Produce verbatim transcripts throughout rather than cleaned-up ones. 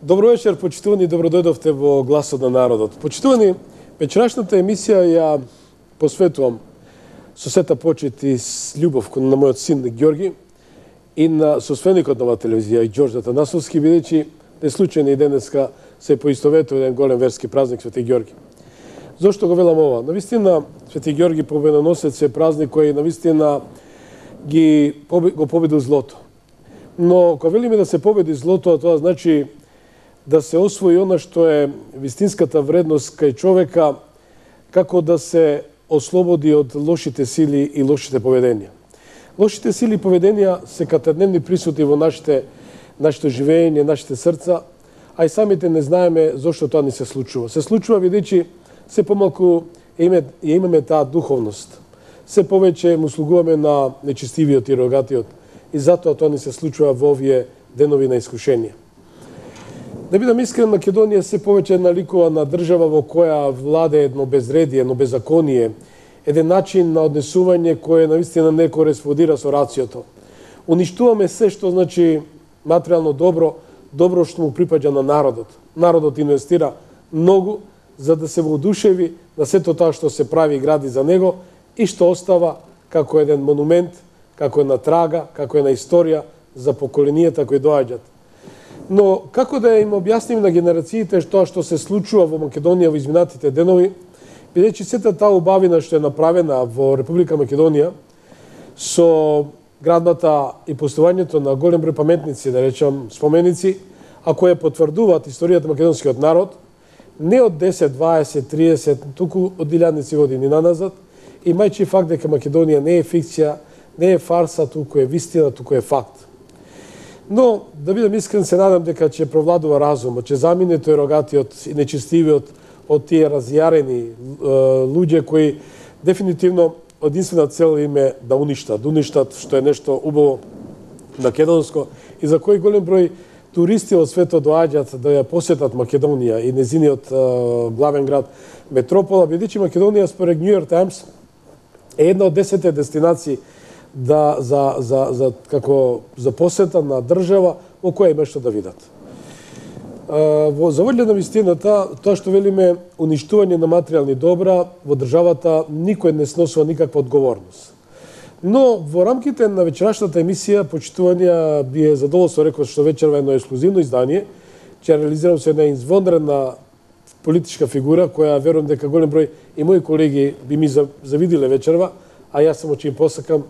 Добро вечер, почитувани, добродојдовте во Гласот на народот. Почитувани, вечерашната емисија ја посветувам со сета почит и с љубов на мојот син Ѓорги и на соственикот на оваа телевизија Ѓорѓе Атанасовски, бидејќи не случајно и денеска се поистоветува еден голем верски празник Свети Ѓорги. Зошто го велам ова? Навистина Свети Ѓорги победоносец е празник кој навистина ги го победил злото. Но кога велиме да се победи злото, тоа значи да се освои она што е вистинската вредност кај човека, како да се ослободи од лошите сили и лошите поведенија. Лошите сили и поведенија се катедневни присутни во нашите, нашето живење, нашите срца, а и самите не знаеме зошто тоа ни се случува. Се случува бидејќи се помалку ја имаме таа духовност. Се повеќе му слугуваме на нечестивиот и рогатиот и затоа тоа ни се случува во овие денови на искушение. Да бидам искрен, Македонија се повеќе наликува на држава во која владе едно безредие, едно беззаконие, еден начин на однесување кој навистина не кореспондира со рациото. Уништуваме се што значи материјално добро, добро што му припаѓа на народот. Народот инвестира многу за да се воодушеви на сето тоа што се прави и гради за него и што остава како еден монумент, како една трага, како една историја за поколенијата кои доаѓаат. Но како да им објасниме на генерациите тоа што се случува во Македонија во изминатите денови, бидејќи сета таа убавина што е направена во Република Македонија со градбата и постојањето на голем број паметници, да речам споменици, а кои потврдуваат историјата на македонскиот народ, не од десет, дваесет, триесет, туку од илјадници години наназад, имајќи факт дека Македонија не е фикција, не е фарса, туку е вистина, туку е факт. Но, да бидам искрен, се надам дека ќе провладува разумот, ќе замине тој рогатиот и нечестивиот од тие разјарени е, луѓе кои дефинитивно единствена цел им е да уништат, да уништат што е нешто убаво македонско и за кој голем број туристи од светот доаѓаат да ја посетат Македонија и незиниот е, главен град метропола, бидејќи Македонија според New York Times е една од десетте дестинации да за за за како за посета на држава во која има што да видат. Во завоѓа на вистината, тоа што велиме уништување на материјални добра во државата никој не сносува никаква одговорност. Но во рамките на вечерашната емисија почитување би е задоволство рекол што вечерва едно ексклузивно издание ќе реализирам со една извонредна политичка фигура која верувам дека голем број и мои колеги би ми завидиле вечерва, а јас само ќе им посакам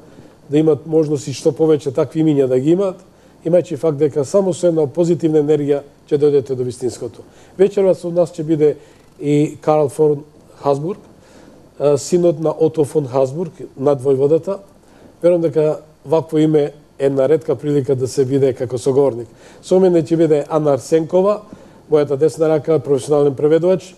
да имат можност и што повеќе такви имиња да ги имаат, имајќи факт дека само со една позитивна енергија ќе дојдете до вистинското. Вечерва со нас ќе биде и Карл фон Хасбург, синот на Ото фон Хасбург, над војводата. Верувам дека вакво име е една ретка прилика да се биде како соговорник. Со мене ќе биде Ана Арсенкова, мојата десна рака, професионален преведувач,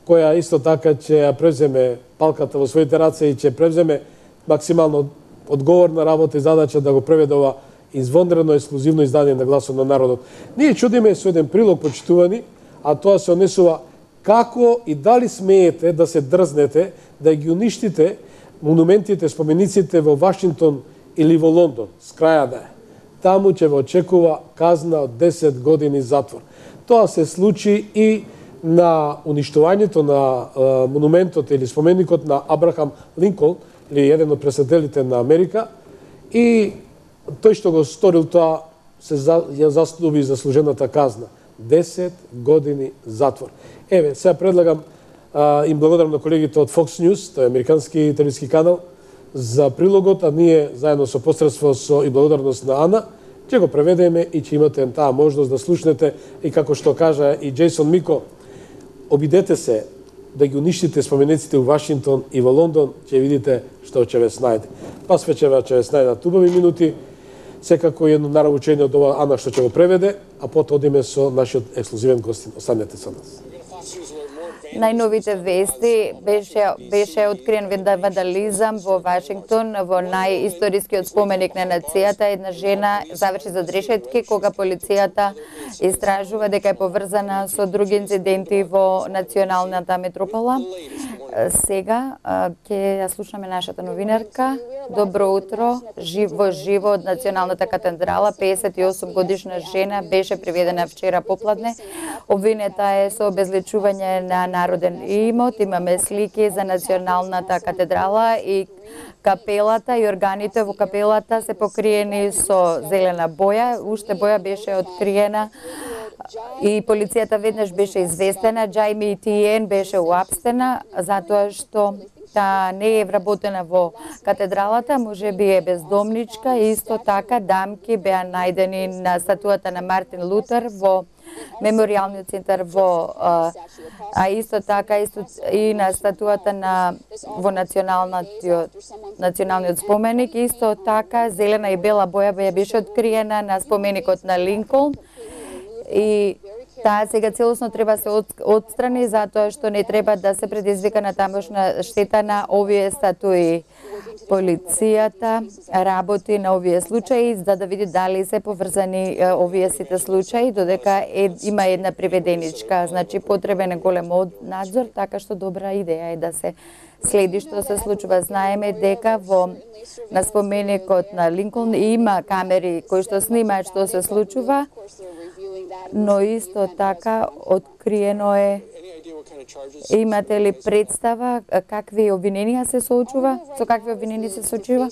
која исто така ќе ја превземе палката во своите раце и ќе превземе максимално одговорна работа и задача да го преведе ова извонредно ексклузивно издание на Гласот на народот. Ние чудиме со еден прилог почитувани, а тоа се однесува како и дали смеете да се дрзнете да ги уништите монументите, спомениците во Вашингтон или во Лондон, с краја да е. Таму ќе ве очекува казна од десет години затвор. Тоа се случи и на уништувањето на е, монументот или споменикот на Абрахам Линколн, или еден од председателите на Америка, и тој што го сторил тоа се за, ја заслуби заслужената казна. десет години затвор. Еве, сега предлагам, а, им благодарам на колегите од Fox News, тој е американски телевизиски канал, за прилогот, а ние заедно со посредство со и благодарност на Ана, ќе го преведеме и ќе имате таа можност да слушнете и како што кажа и Джейсон Мико, обидете се да ги уништите спомениците у Вашингтон и во Лондон, ќе видите што ќе ве снајде. Пас вечера ќе ве снајдат убави минути, секако едно наравучение од ова Ана што ќе го преведе, а потоа одиме со нашиот ексклузивен гостин. Останете со нас. Најновите вести беше беше откриен вандализам во Вашингтон, во најисторискиот споменик на нацијата. Една жена заврши зад решетки кога полицијата истражува дека е поврзана со други инциденти во националната метропола. Сега ќе ја слушаме нашата новинарка. Добро утро. Жив, во живо од Националната катедрала, песет и осум годишна жена беше приведена вчера попладне. Обвинета е со обезличување на народен имот. Имаме слики за Националната катедрала и капелата и органите во капелата се покриени со зелена боја. Уште боја беше откриена и полицијата веднаш беше известена. Џајми Тиен беше уапстена затоа што та не е вработена во катедралата, може би е бездомничка. Исто така дамки беа најдени на статуата на Мартин Лутер во меморијалниот центар во а, а исто така исто, и на статуата на во националниот националниот споменик. Исто така зелена и бела боја беа беше откриена на споменикот на Линколн. И таа сега целосно треба се отстрани затоа што не треба да се предизвика на тамошна штета на овие статуи. Полицијата работи на овие случаи за да види дали се поврзани овие сите случаи, додека е, има една приведеничка. Значи потребен е голем надзор, така што добра идеја е да се следи што се случува. Знаеме дека во на споменикот на Линколн има камери кои што снимаат што се случува, но исто така откриено е. Имате ли представа какви обвиненија се соочува? Со какви обвиненија се соочува?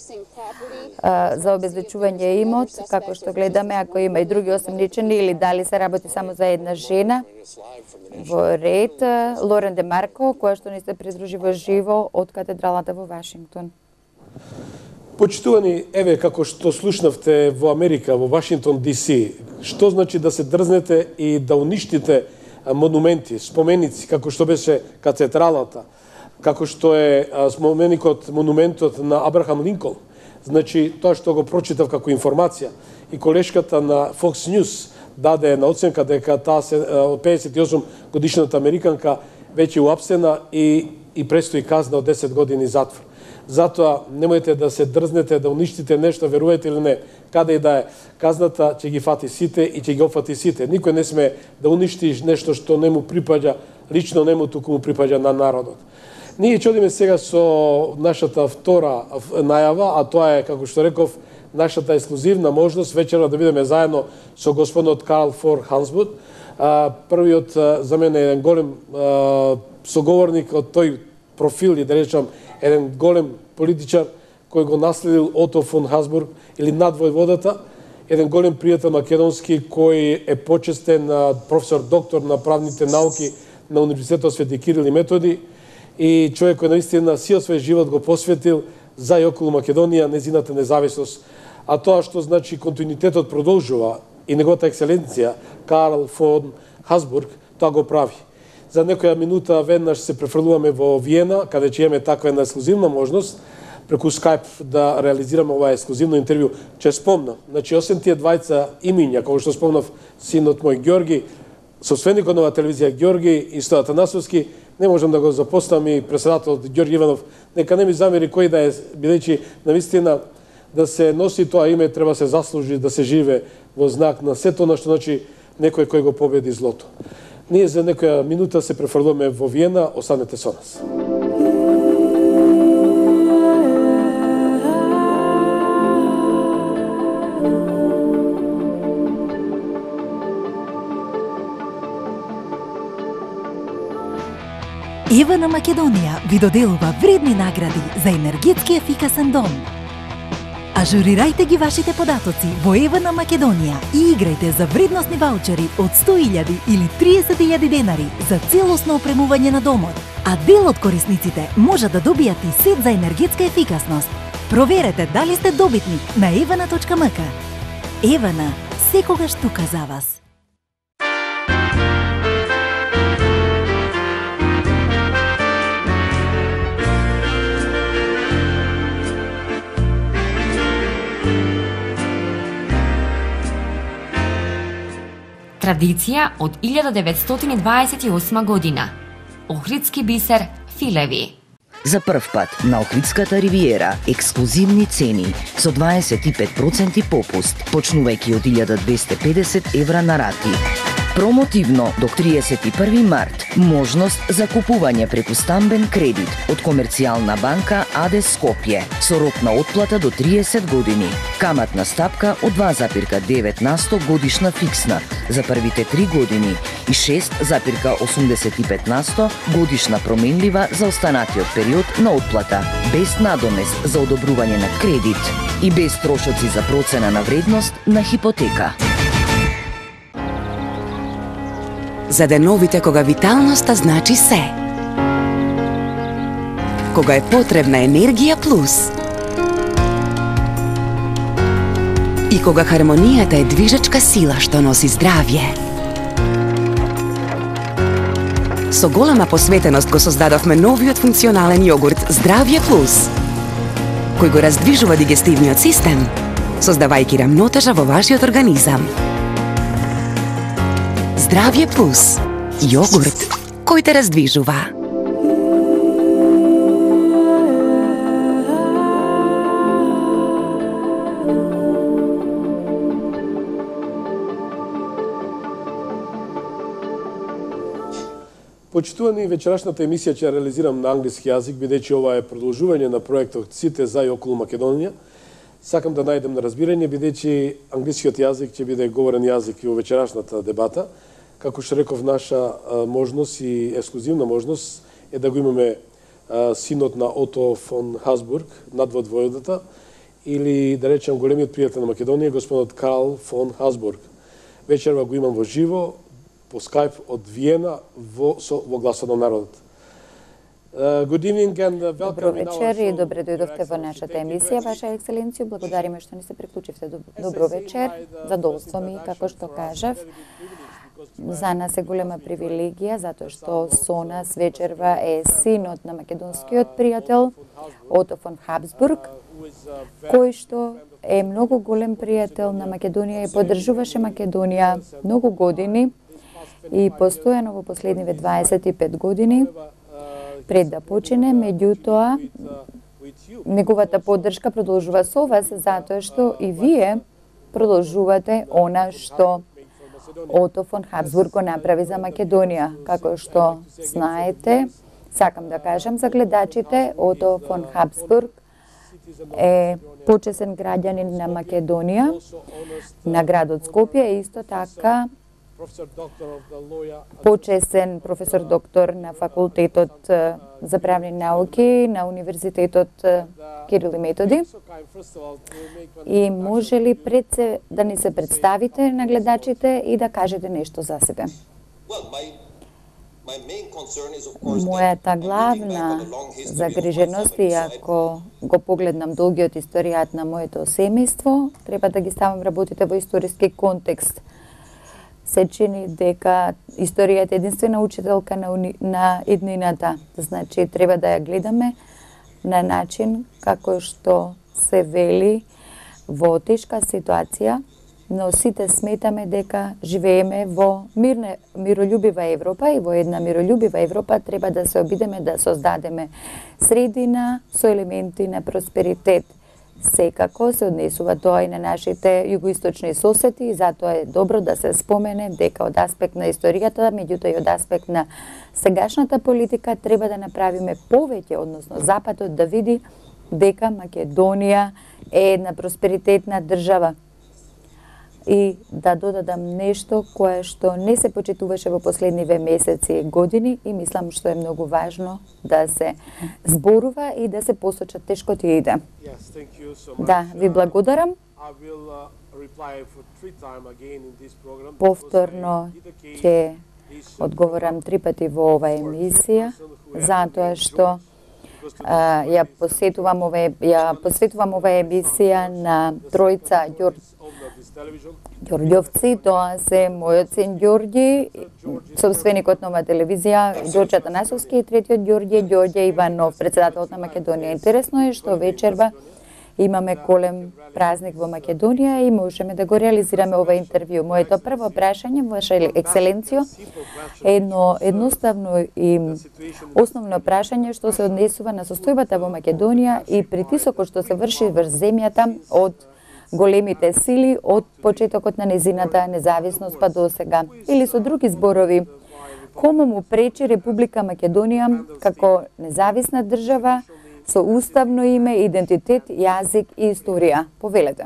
За обезличување имот, како што гледаме, ако има и други осомничени или дали се работи само за една жена? Во ред, Лорен Де Марко, која што ни се придружи во живо од катедралата во Вашингтон. Почитувани, еве како што слушнавте во Америка, во Вашингтон Ди Си, што значи да се дрзнете и да уништите монументи, споменици, како што беше катедралата, како што е споменикот, монументот на Абрахам Линколн. Значи, тоа што го прочитав како информација и колешката на Fox News даде на оценка дека таа се педесет и осум годишната американка веќе уапсена и, и престои казна од десет години затвор. Затоа немојте да се дрзнете да уништите нешто, верувате или не, каде и да е, казната ќе ги фати сите и ќе ги опфати сите. Никој не сме да уништиш нешто што не му припаѓа, лично не му, туку му припаѓа на народот. Ние чудиме сега со нашата втора најава, а тоа е, како што реков, нашата ексклузивна можност вечера да бидеме заедно со господинот Карл Фон Хасбург. Првиот за мене е еден голем соговорник од тој профил и да речам еден голем политичар кој го наследил Ото фон Хасбург или надвојводата, еден голем пријател македонски кој е почестен професор доктор на правните науки на Универзитетот Свети Кирил и Методи и човек кој наистина сиот свој живот го посветил за и околу Македонија, незината независност. А тоа што значи континуитетот продолжува и неговата екселенција Карл фон Хасбург тоа го прави. За некоја минута веднаш се префрлуваме во Виена, каде ќе имаме таква една ексклузивна можност преку Скайп да реализираме ова ексклузивно интервју. Ќе спомнам, значи осем тие двајца имиња, како што спомнав синот мој Ѓорги, собственикот на телевизија Ѓорги и Стојан Танасовски, не можам да го запоставам и председателот Ѓорги Иванов, нека не ми замери кој да е, бидејќи навистина да се носи тоа име треба се заслужи да се живе во знак на сето она што значи некој кој го победи злото. Ние за некоја минута се префрлуваме во Виена, останете со нас. Евана Македонија ви доделува вредни награди за енергетски ефикасен дом. Ажурирајте ги вашите податоци во Евана Македонија и играјте за вредносни ваучери од сто илјади или триесет илјади денари за целосно опремување на домот. А дел од корисниците може да добијат и сет за енергетска ефикасност. Проверете дали сте добитник на евана точка ем ка. Евана, секогаш тука за вас. Традиција од илјада деветстотини дваесет и осма година. Охридски бисер филеви. За прв пат на Охридската ривиера ексклузивни цени со дваесет и пет проценти попуст, почнувајќи од илјада двесте и педесет евра на рати. Промотивно до триесет и први март можност за купување преку стамбен кредит од Комерцијална банка АД Скопје со рок на отплата до триесет години. Каматна стапка од два запирка девет на сто годишна фиксна за првите три години и шест запирка осумдесет и пет на сто годишна променлива за останатиот период на отплата, без надомест за одобрување на кредит и без трошоци за процена на вредност на хипотека. За деновите кога виталноста значи се. Кога е потребна енергија плюс. И кога хармонијата е движечка сила што носи здравје. Со голема посветеност го создадовме новиот функционален јогурт Здравје плюс, кој го раздвижува дигестивниот систем, создавајќи рамнотежа во вашиот организам. Здравје плюс. Јогурт кој те раздвижува. Почитувани, вечерашната емисија ќе реализирам на англиски јазик, бидејќи ова е продолжување на проектот Сите за и околу Македонија. Сакам да најдем на разбирање, бидејќи англискиот јазик ќе биде говорен јазик и во вечерашната дебата. Како што реков, наша можност и ексклузивна можност е да го имаме синот на Ото фон Хабсбург, надвод војводата, или да речем големиот пријател на Македонија, господот Карл фон Хабсбург. Вечерва го имам во живо, по скайп од Виена во, со, во Гласот на народот. Uh, good evening and uh, welcome. Добро вечер и добре дојдовте во нашата емисија, Ваша екселенција. Благодариме што ни се приклучивте. Добро вечер. Задоволство ми, како што кажав. За нас е голема привилегија, затоа што со нас вечерва е синот на македонскиот пријател, Ото фон Хабсбург, кој што е многу голем пријател на Македонија и поддржуваше Македонија многу години и постојано во последниве дваесет и пет години пред да почине. Меѓутоа, неговата поддршка продолжува со вас, затоа што и вие продолжувате она што Ото фон Хабсбург го направи за Македонија. Како што знаете, сакам да кажам за гледачите, Ото фон Хабсбург е почесен граѓанин на Македонија, на градот Скопје, и исто така почесен професор доктор на факултетот за правни науки на Универзитетот Кирил и Методи. И може ли пред се да ни се представите на гледачите и да кажете нешто за себе? Мојата главна загриженост, и ако го погледнам долгиот историјат на моето семејство, треба да ги ставам работите во историски контекст. Се чини дека историјата е единствена учителка на, уни... на еднината. Значи, треба да ја гледаме на начин како што се вели во тешка ситуација, но сите сметаме дека живееме во мирна, миролюбива Европа, и во една миролюбива Европа треба да се обидеме да создадеме средина со елементи на просперитет. Секако се однесува тоа и на нашите југоисточни соседи, и затоа е добро да се спомене дека од аспект на историјата, меѓутоа и од аспект на сегашната политика, треба да направиме повеќе, односно Западот да види дека Македонија е една просперитетна држава. И да додадам нешто кое што не се почитуваше во последниве месеци и години, и мислам што е многу важно да се зборува и да се посочат тешкотиите. Да, ви благодарам. Повторно ќе одговорам три пати во оваа емисија, затоа што а, ја посетувам оваа ја посветувам оваа емисија на тројца Ѓорѓовци. Тоа се мојот син Ѓорѓи, собственикот на оваа телевизија, Ѓорѓе Атанасовски, и третиот Ѓорѓе, Ѓорѓе Иванов, председателот на Македонија. Интересно е што вечерва имаме голем празник во Македонија и можеме да го реализираме ова интервју. Моето прво прашање, Ваша екселенцијо, е едно едноставно и основно прашање што се однесува на состојбата во Македонија и притисокот што се врши врз земјата од големите сили од почетокот на незината независност па до сега. Или со други зборови, кому му пречи Република Македонија како независна држава со уставно име, идентитет, јазик и историја? Повелете.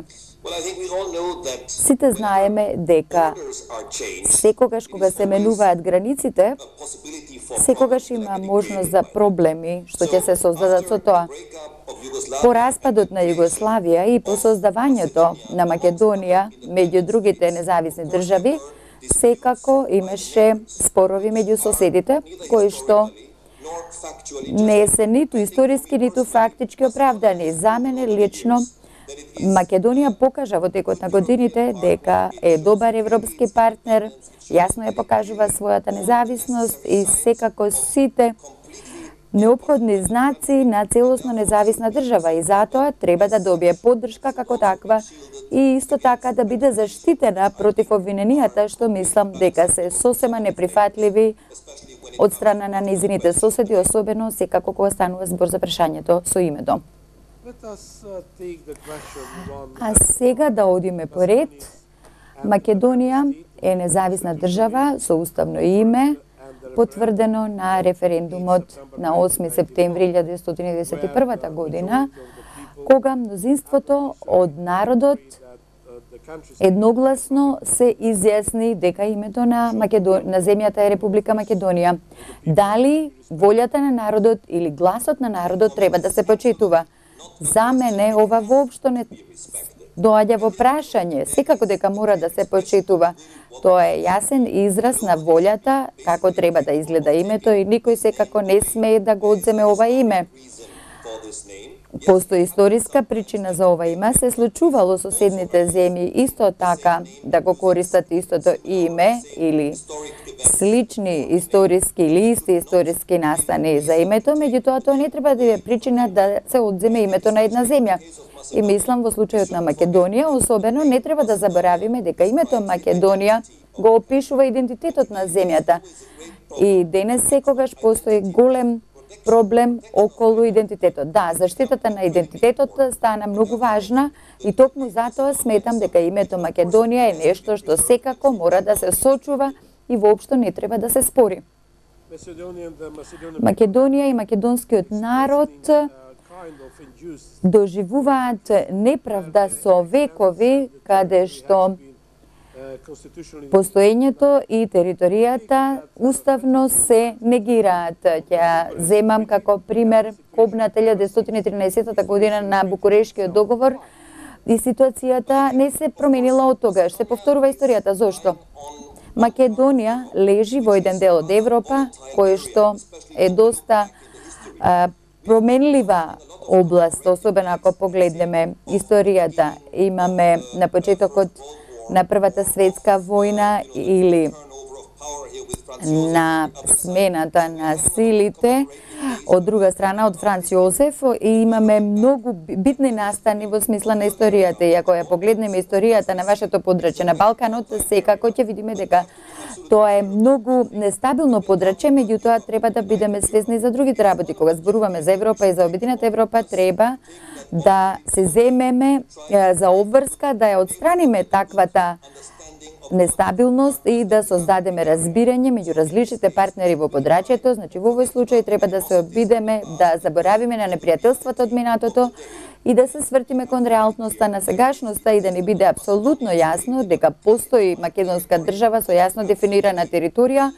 Сите знаеме дека секогаш кога се менуваат границите, секогаш има можност за проблеми што ќе се создадат со тоа. По распадот на Југославија и по создавањето на Македонија меѓу другите независни држави, секако имаше спорови меѓу соседите, кои што не се ниту историски, ниту фактички оправдани. За мене лично, Македонија покажа во текот на годините дека е добар европски партнер, јасно ја покажува својата независност и секако сите неопходни знаци на целосно независна држава и затоа треба да добие поддршка како таква и исто така да биде заштитена против обвиненијата што мислам дека се сосема неприфатливи од страна на незините соседи, особено секако кога станува збор за прашањето со името. А сега да одиме поред. Македонија е независна држава со уставно име, потврдено на референдумот на осми септември илјада деветстотини деветдесет и прва година, кога мнозинството од народот едногласно се изјасни дека името на, Македон... на земјата е Република Македонија. Дали волјата на народот или гласот на народот треба да се почитува? За мене ова воопшто не доаѓа во прашање, секако дека мора да се почитува. Тоа е јасен израз на волјата како треба да изгледа името и никој секако не смее да го одземе ова име. Постои историска причина за ова име, се случувало соседните земји исто така да го користат истото име или слични историски или исти историски настани за името, меѓутоа тоа не треба да е причина да се одземе името на една земја. И мислам во случајот на Македонија, особено не треба да заборавиме дека името Македонија го опишува идентитетот на земјата. И денес секогаш постои голем проблем околу идентитетот. Да, заштитата на идентитетот стана многу важна и токму затоа сметам дека името Македонија е нешто што секако мора да се сочува и воопшто не треба да се спори. Македонија и македонскиот народ доживуваат неправда со векови, каде што постоењето и територијата уставно се негираат. Ќе земам како пример кобната илјада деветстотини и тринаесетта година на Букурешкиот договор и ситуацијата не се променила од тогаш. Се повторува историјата. Зошто? Македонија лежи во еден дел од Европа, кој што е доста а, променлива област, особено ако погледнеме историјата. Имаме на почетокот на Првата светска војна или на смената на силите, од друга страна од Франц Јозеф, и имаме многу битни настани во смисла на историјата. И ако ја погледнеме историјата на вашето подрачје на Балканот, секако ќе видиме дека тоа е многу нестабилно подрачје, меѓутоа треба да бидеме свесни за другите работи. Кога зборуваме за Европа и за обединета Европа, треба да се земеме за обврска, да ја отстраниме таквата нестабилност и да создадеме разбирање меѓу различните партнери во подрачјето. Значи, во овој случај треба да се обидеме да заборавиме на непријателството од минатото и да се свртиме кон реалноста на сегашноста и да ни биде апсолутно јасно дека постои македонска држава со јасно дефинирана територија,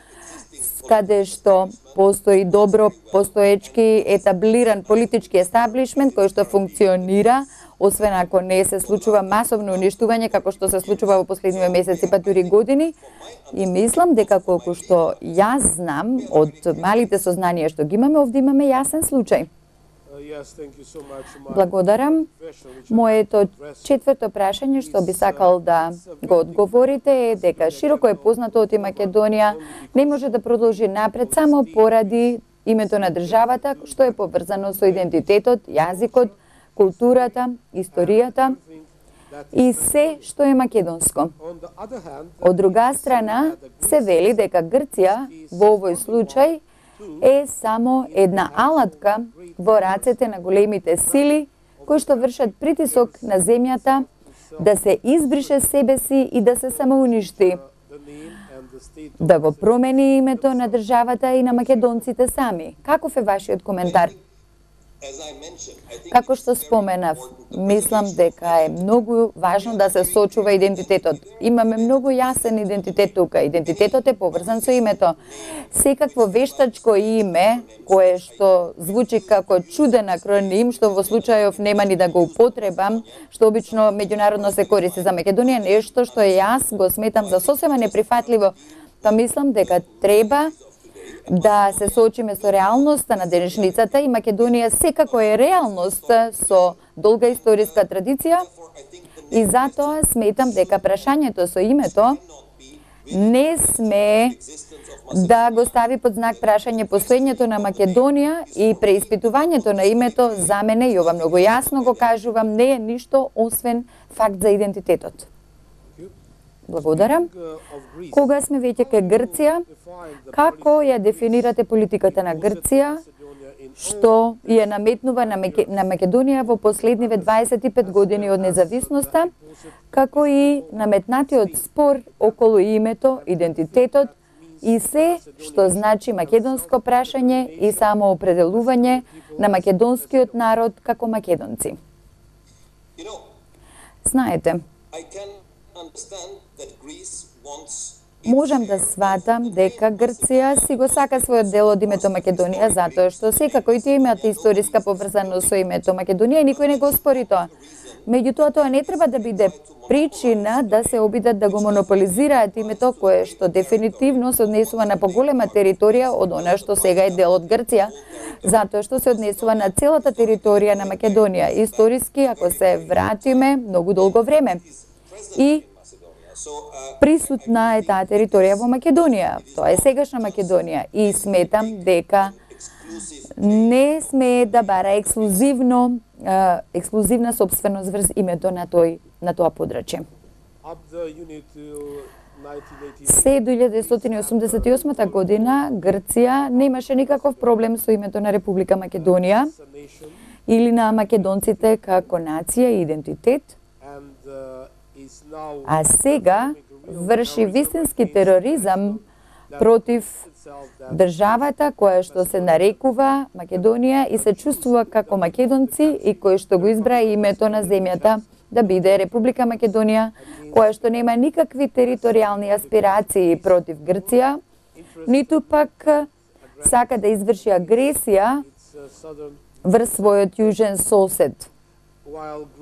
каде што постои добро постоечки етаблиран политички естаблишмент кој што функционира, освен ако не се случува масовно уништување како што се случува во последниве месеци па дури години. И мислам дека колку што јас знам од малите сознанија што ги имаме, овде имаме јасен случај. Благодарам. Моето четврто прашање што би сакал да го одговорите е дека широко е познато од Македонија не може да продолжи напред само поради името на државата што е поврзано со идентитетот, јазикот, културата, историјата и се што е македонско. Од друга страна, се вели дека Грција во овој случај е само една алатка во рацете на големите сили кои што вршат притисок на земјата да се избрише себе си и да се самоуништи, да го промени името на државата и на македонците сами. Каков е вашиот коментар? Како што споменав, мислам дека е многу важно да се сочува идентитетот. Имаме многу јасен идентитет тука. Идентитетот е поврзан со името. Секакво вештачко име, кое што звучи како чуден акроним, што во случајов нема ни да го употребам, што обично меѓународно се користи за Македонија, нешто што јас го сметам за сосема неприфатливо, па мислам дека треба да се соочиме со реалноста на денешницата и Македонија секако е реалност со долга историска традиција и затоа сметам дека прашањето со името не сме да го стави под знак прашање постоењето на Македонија и преиспитувањето на името за мене, и ова многу јасно го кажувам, не е ништо освен факт за идентитетот. Благодарам. Кога сме веќе кај Грција, како ја дефинирате политиката на Грција, што ја наметнува на Македонија во последниве дваесет и пет години од независноста, како и наметнатиот спор околу името, идентитетот и се што значи македонско прашање и самоопределување на македонскиот народ како македонци? Знаете, можам да сватам дека Грција си го сака својот дел од името Македонија, затоа што секако и тие имаат историска поврзаност со името Македонија и никој не го спори тоа. Меѓутоа, тоа не треба да биде причина да се обидат да го монополизираат името кое што дефинитивно се однесува на поголема територија од она што сега е дел од Грција, затоа што се однесува на целата територија на Македонија, историски, ако се вратиме, многу долго време. И присутна е таа територија во Македонија. Тоа е сегашна Македонија и сметам дека не сме да бара ексклузивно ексклузивна собственост врз името на тој на тоа подрачје. Се до илјада деветстотини и осумдесет и осма година Грција немаше никаков проблем со името на Република Македонија или на македонците како нација и идентитет. А сега врши вистински тероризам против државата која што се нарекува Македонија и се чувствува како македонци и кој што го избра името на земјата да биде Република Македонија, која што нема никакви територијални аспирации против Грција, ниту пак сака да изврши агресија врз својот јужен сосед.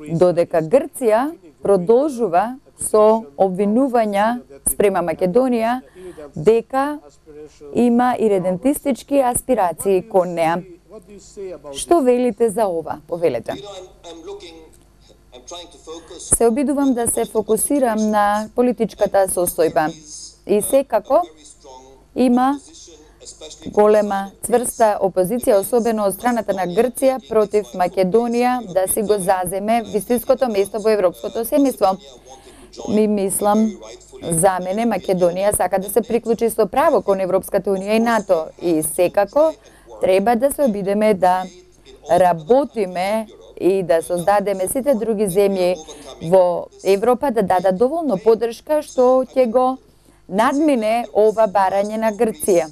Додека Грција продолжува со обвинувања спрема Македонија дека има иредентистички аспирации кон неа. Што велите за ова? Повелете. Се обидувам да се фокусирам на политичката состојба и секако има голема цврста опозиција, особено од страната на Грција, против Македонија да си го заземе вистинското место во европското семејство. Ми мислам, за мене Македонија сака да се приклучи со право кон Европската унија и НАТО и секако треба да се обидеме да работиме и да создадеме сите други земји во Европа да дадат доволно поддршка што ќе го надмине ова барање на Грција.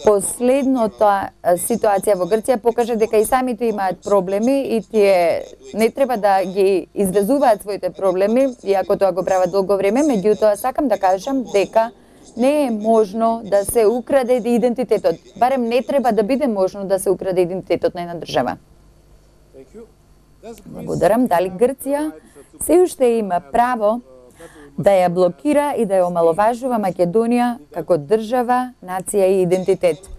Последната ситуација во Грција покажа дека и самите имаат проблеми и тие не треба да ги извезуваат своите проблеми, иако тоа го прават долго време, меѓутоа сакам да кажам дека не е можно да се украде идентитетот. Барем не треба да биде можно да се украде идентитетот на една држава. Благодарам. Дали Грција се уште има право да ја блокира и да ја омаловажува Македонија како држава, нација и идентитет?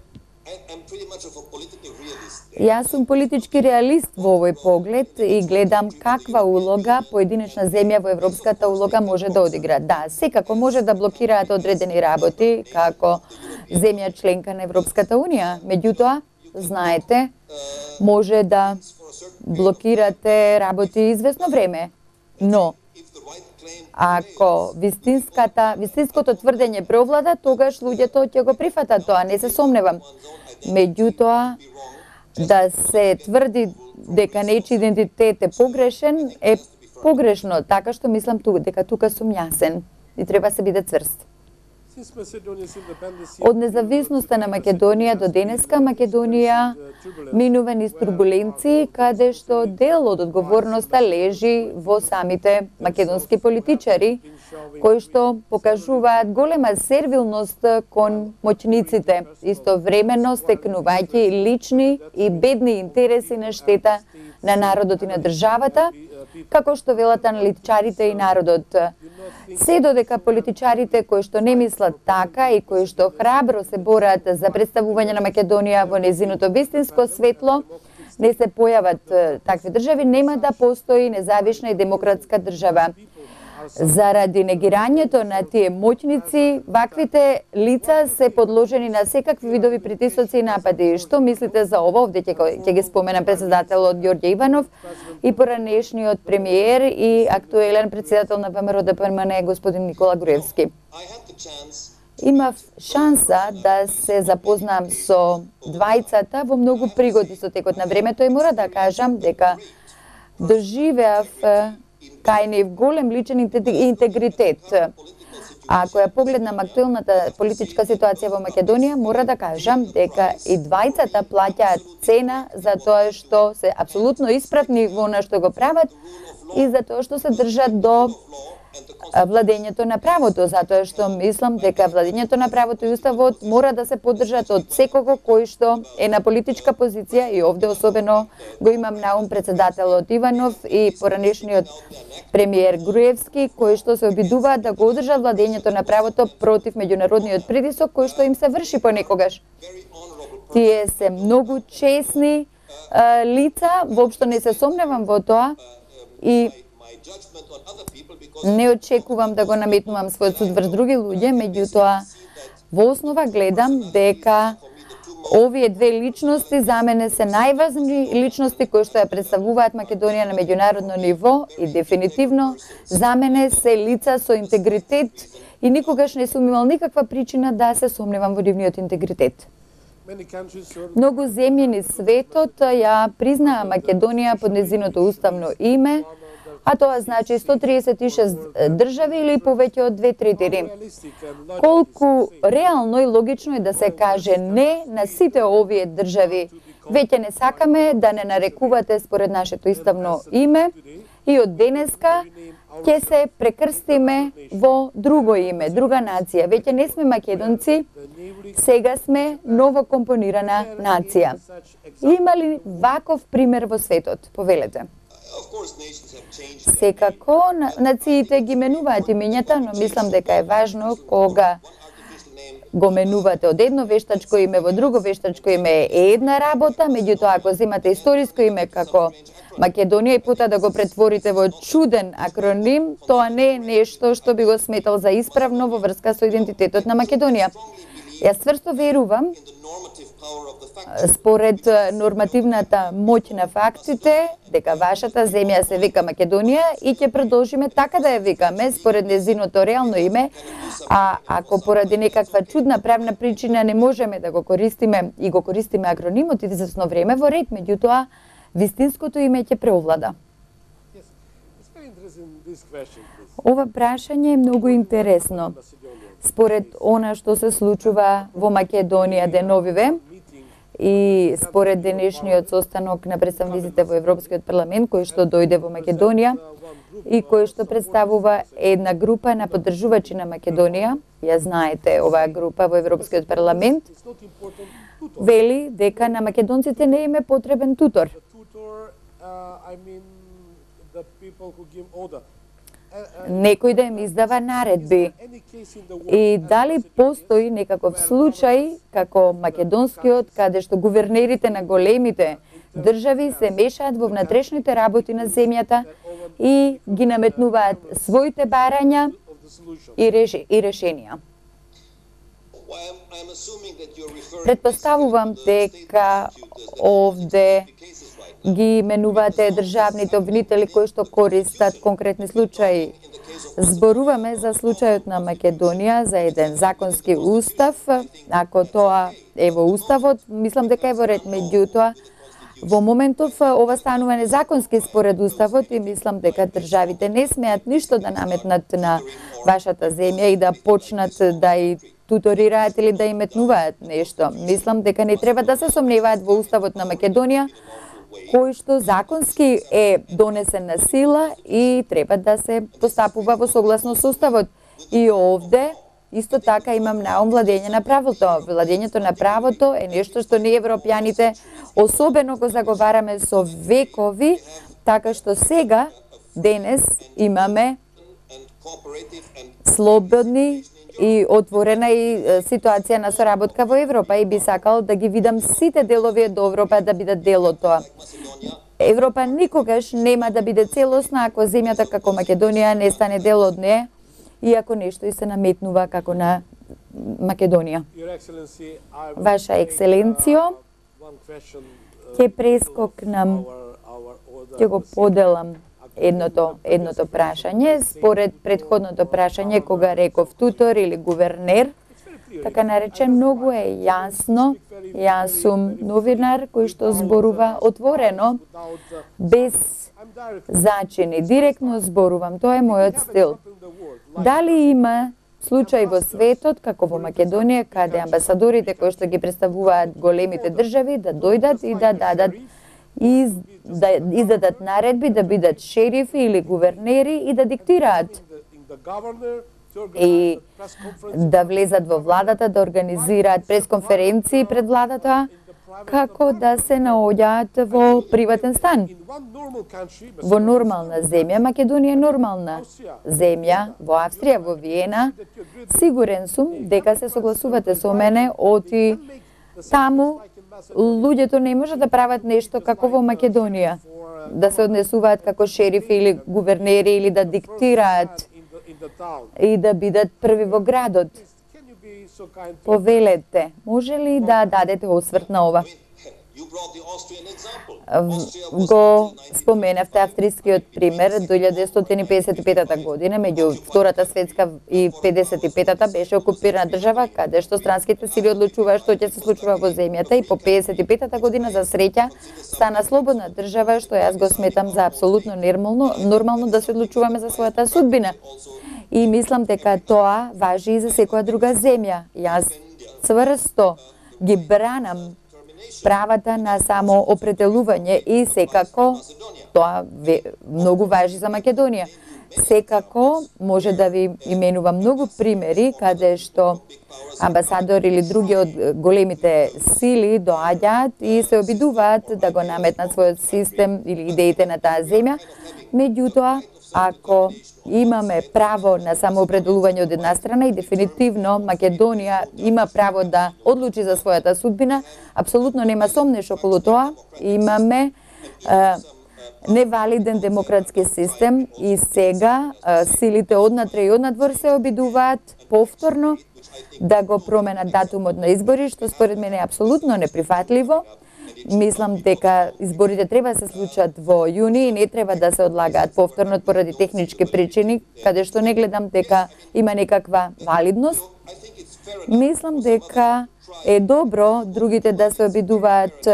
Јас сум политички реалист во овој поглед и гледам каква улога поединечна земја во европската улога може да одигра. Да, секако може да блокираат одредени работи како земја членка на Европската унија. Меѓутоа, знаете, може да блокирате работи известно време, но ако вистинската, вистинското тврдење преовлада, тогаш луѓето ќе го прифатат тоа, не се сомневам. Меѓутоа, да се тврди дека нечи идентитет е погрешен е погрешно, така што мислам ту, дека тука сум јасен и треба се биде цврст. Од независноста на Македонија до денеска, Македонија минува низ турбуленции, каде што дел од одговорноста лежи во самите македонски политичари, кои што покажуваат голема сервилност кон моќниците, истовремено стекнувајќи лични и бедни интереси на штета на народот и на државата, како што велат аналитичарите и народот. Се додека политичарите кои што не мислат така и кои што храбро се борат за представување на Македонија во незиното вистинско светло, не се појават такви држави, нема да постои независна и демократска држава. Заради негирањето на тие моќници, ваквите лица се подложени на секакви видови притисоци и напади. Што мислите за ово? Овде ќе ќе ги споменам председателот Ѓорѓе Иванов и поранешниот премиер и актуелен председател на ВМРО Д П М Н господин Никола Груевски. Имав шанса да се запознам со двајцата во многу пригоди со текот на времето и мора да кажам дека доживеав кај нив голем личен интегритет. А ако ја погледнам актуелната политичка ситуација во Македонија, мора да кажам дека и двајцата плаќаат цена за тоа што се апсолутно исправни во она што го прават и за тоа што се држат до владењето на правото, затоа што мислам дека владењето на правото и уставот мора да се поддржат од секого кој што е на политичка позиција и овде особено го имам на ум председателот Иванов и поранешниот премиер Груевски, кои што се обидуваат да го одржат владењето на правото против меѓународниот притисок кој што им се врши понекогаш. Тие се многу честни а, лица, воопшто не се сомневам во тоа и не очекувам да го наметнувам својот суд врз други луѓе, меѓутоа во основа гледам дека овие две личности за мене се најважни личности кои што ја представуваат Македонија на меѓународно ниво и дефинитивно за мене се лица со интегритет и никогаш не сум имал никаква причина да се сомневам во нивниот интегритет. Многу земји низ светот ја признаа Македонија под незиното уставно име, а тоа значи сто триесет и шест држави или повеќе од две трети. Колку реално и логично е да се каже не на сите овие држави. Веќе не сакаме да не нарекувате според нашето уставно име и од денеска ќе се прекрстиме во друго име, друга нација. Веќе не сме македонци, сега сме новокомпонирана нација. Има ли ваков пример во светот? Повелете. Секако, нациите ги менуваат имењата, но мислам дека е важно кога го менувате од едно вештачко име во друго вештачко име е една работа, меѓутоа ако земате историско име како Македонија и пута да го претворите во чуден акроним, тоа не е нешто што би го сметал за исправно во врска со идентитетот на Македонија. Јас цврсто верувам, според нормативната моќ на фактите, дека вашата земја се вика Македонија и ќе продолжиме така да ја викаме според незиното реално име, а ако поради некаква чудна правна причина не можеме да го користиме и го користиме акронимот извесно време во ред, меѓутоа вистинското име ќе преовлада. Ова прашање е многу интересно. Според она што се случува во Македонија деновиве и според денешниот состанок на представниците во Европскиот парламент кој што дојде во Македонија и кој што представува една група на поддржувачи на Македонија, ја знаете оваа група во Европскиот парламент, вели дека на македонците не им е потребен тутор. Некој да им издава наредби. И дали постои некаков случај како македонскиот, каде што гувернерите на големите држави се мешаат во внатрешните работи на земјата и ги наметнуваат своите барања и, реш... и решенија. Предпоставувам дека овде ги менувате државните обвинители кои што користат конкретни случаи. Зборуваме за случајот на Македонија, за еден законски устав. Ако тоа е во уставот, мислам дека е во ред, меѓутоа, Во моментов ова станува незаконски според уставот и мислам дека државите не смеат ништо да наметнат на вашата земја и да почнат да и туторираат или да им метнуваат нешто. Мислам дека не треба да се сомневаат во уставот на Македонија, кој што законски е донесен на сила и треба да се постапува во согласно со уставот. И овде исто така имам наум владење на правото. Владењето на правото е нешто што ние европјаните особено го заговараме со векови, така што сега, денес, имаме слободни и отворена и ситуација на соработка во Европа и би сакал да ги видам сите делови од Европа да бидат дел од тоа. Европа никогаш нема да биде целосна ако земјата како Македонија не стане дел од неа и ако нешто и се наметнува како на Македонија. Ваша екселенцијо, ќе прескокнам, ќе го поделам едното едното прашање според претходното прашање кога реков тутор или гувернер, така наречен, многу е јасно. Јас сум новинар кој што зборува отворено, без зачини, директно зборувам, тоа е мојот стил. Дали има случај во светот, како во Македонија, каде амбасадорите кои што ги представуваат големите држави да дојдат и да дадат и да издадат наредби да бидат шерифи или гувернери и да диктираат и да влезат во владата, да организираат пресконференции пред владата, како да се наоѓаат во приватен стан. Во нормална земја, Македонија е нормална земја, во Австрија, во Виена, сигурен сум дека се согласувате со мене, оти таму луѓето не може да прават нешто како во Македонија, да се однесуваат како шерифи или гувернери или да диктираат и да бидат први во градот. Повелете, може ли да дадете осврт на ова? Го споменавте австрискиот пример до илјада деветстотини педесет и петата година, меѓу Втората светска и педесет и петата беше окупирана држава, каде што странските сили одлучуваа што ќе се случува во земјата и по педесет и петата година за среќа стана слободна држава, што јас го сметам за апсолутно нормално, нормално да се одлучуваме за својата судбина. И мислам дека тоа важи и за секоја друга земја. Јас цврсто ги бранам правата на само определување и секако тоа многу важи за Македонија. Секако може да ви именувам многу примери каде што амбасадори или други од големите сили доаѓаат и се обидуваат да го наметнат својот систем или идеите на таа земја. Меѓутоа, ако имаме право на самоопределување од една страна и дефинитивно Македонија има право да одлучи за својата судбина, апсолутно нема сомнеш околу тоа. Имаме е, невалиден демократски систем и сега е, силите однатре и однадвор се обидуваат повторно да го променат датумот на избори, што според мене е апсолутно неприфатливо. Мислам дека изборите треба да се случат во јуни и не треба да се одлагаат повторно поради технички причини, каде што не гледам дека има некаква валидност. Мислам дека е добро другите да се обидуваат,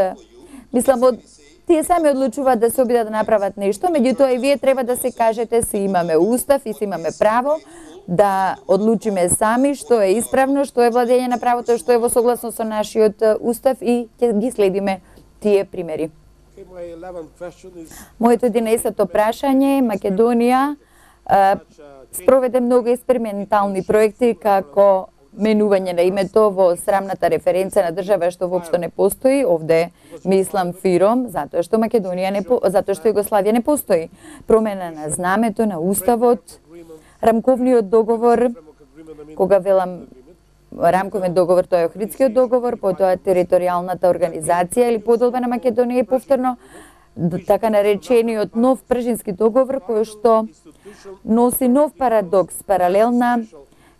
мислам, од тие сами одлучуваат да се обидат да направат нешто, меѓутоа и вие треба да се кажете си имаме устав и си имаме право да одлучиме сами што е исправно, што е владење на правото, што е во согласно со нашиот устав и ќе ги следиме тие примери. Моето единаесетто прашање е Македонија а, спроведе многу експериментални проекти како менување на името во срамната референца на држава што воопшто не постои. Овде мислам Фиром, затоа што Македонија не по... затоа што Југославија не постои. Промена на знамето, на уставот, рамковниот договор, кога велам рамковен договор, тоа е Охридскиот договор, потоа територијалната организација или поделба на Македонија и повторно така наречениот нов Пржински договор кој што носи нов парадокс, паралелна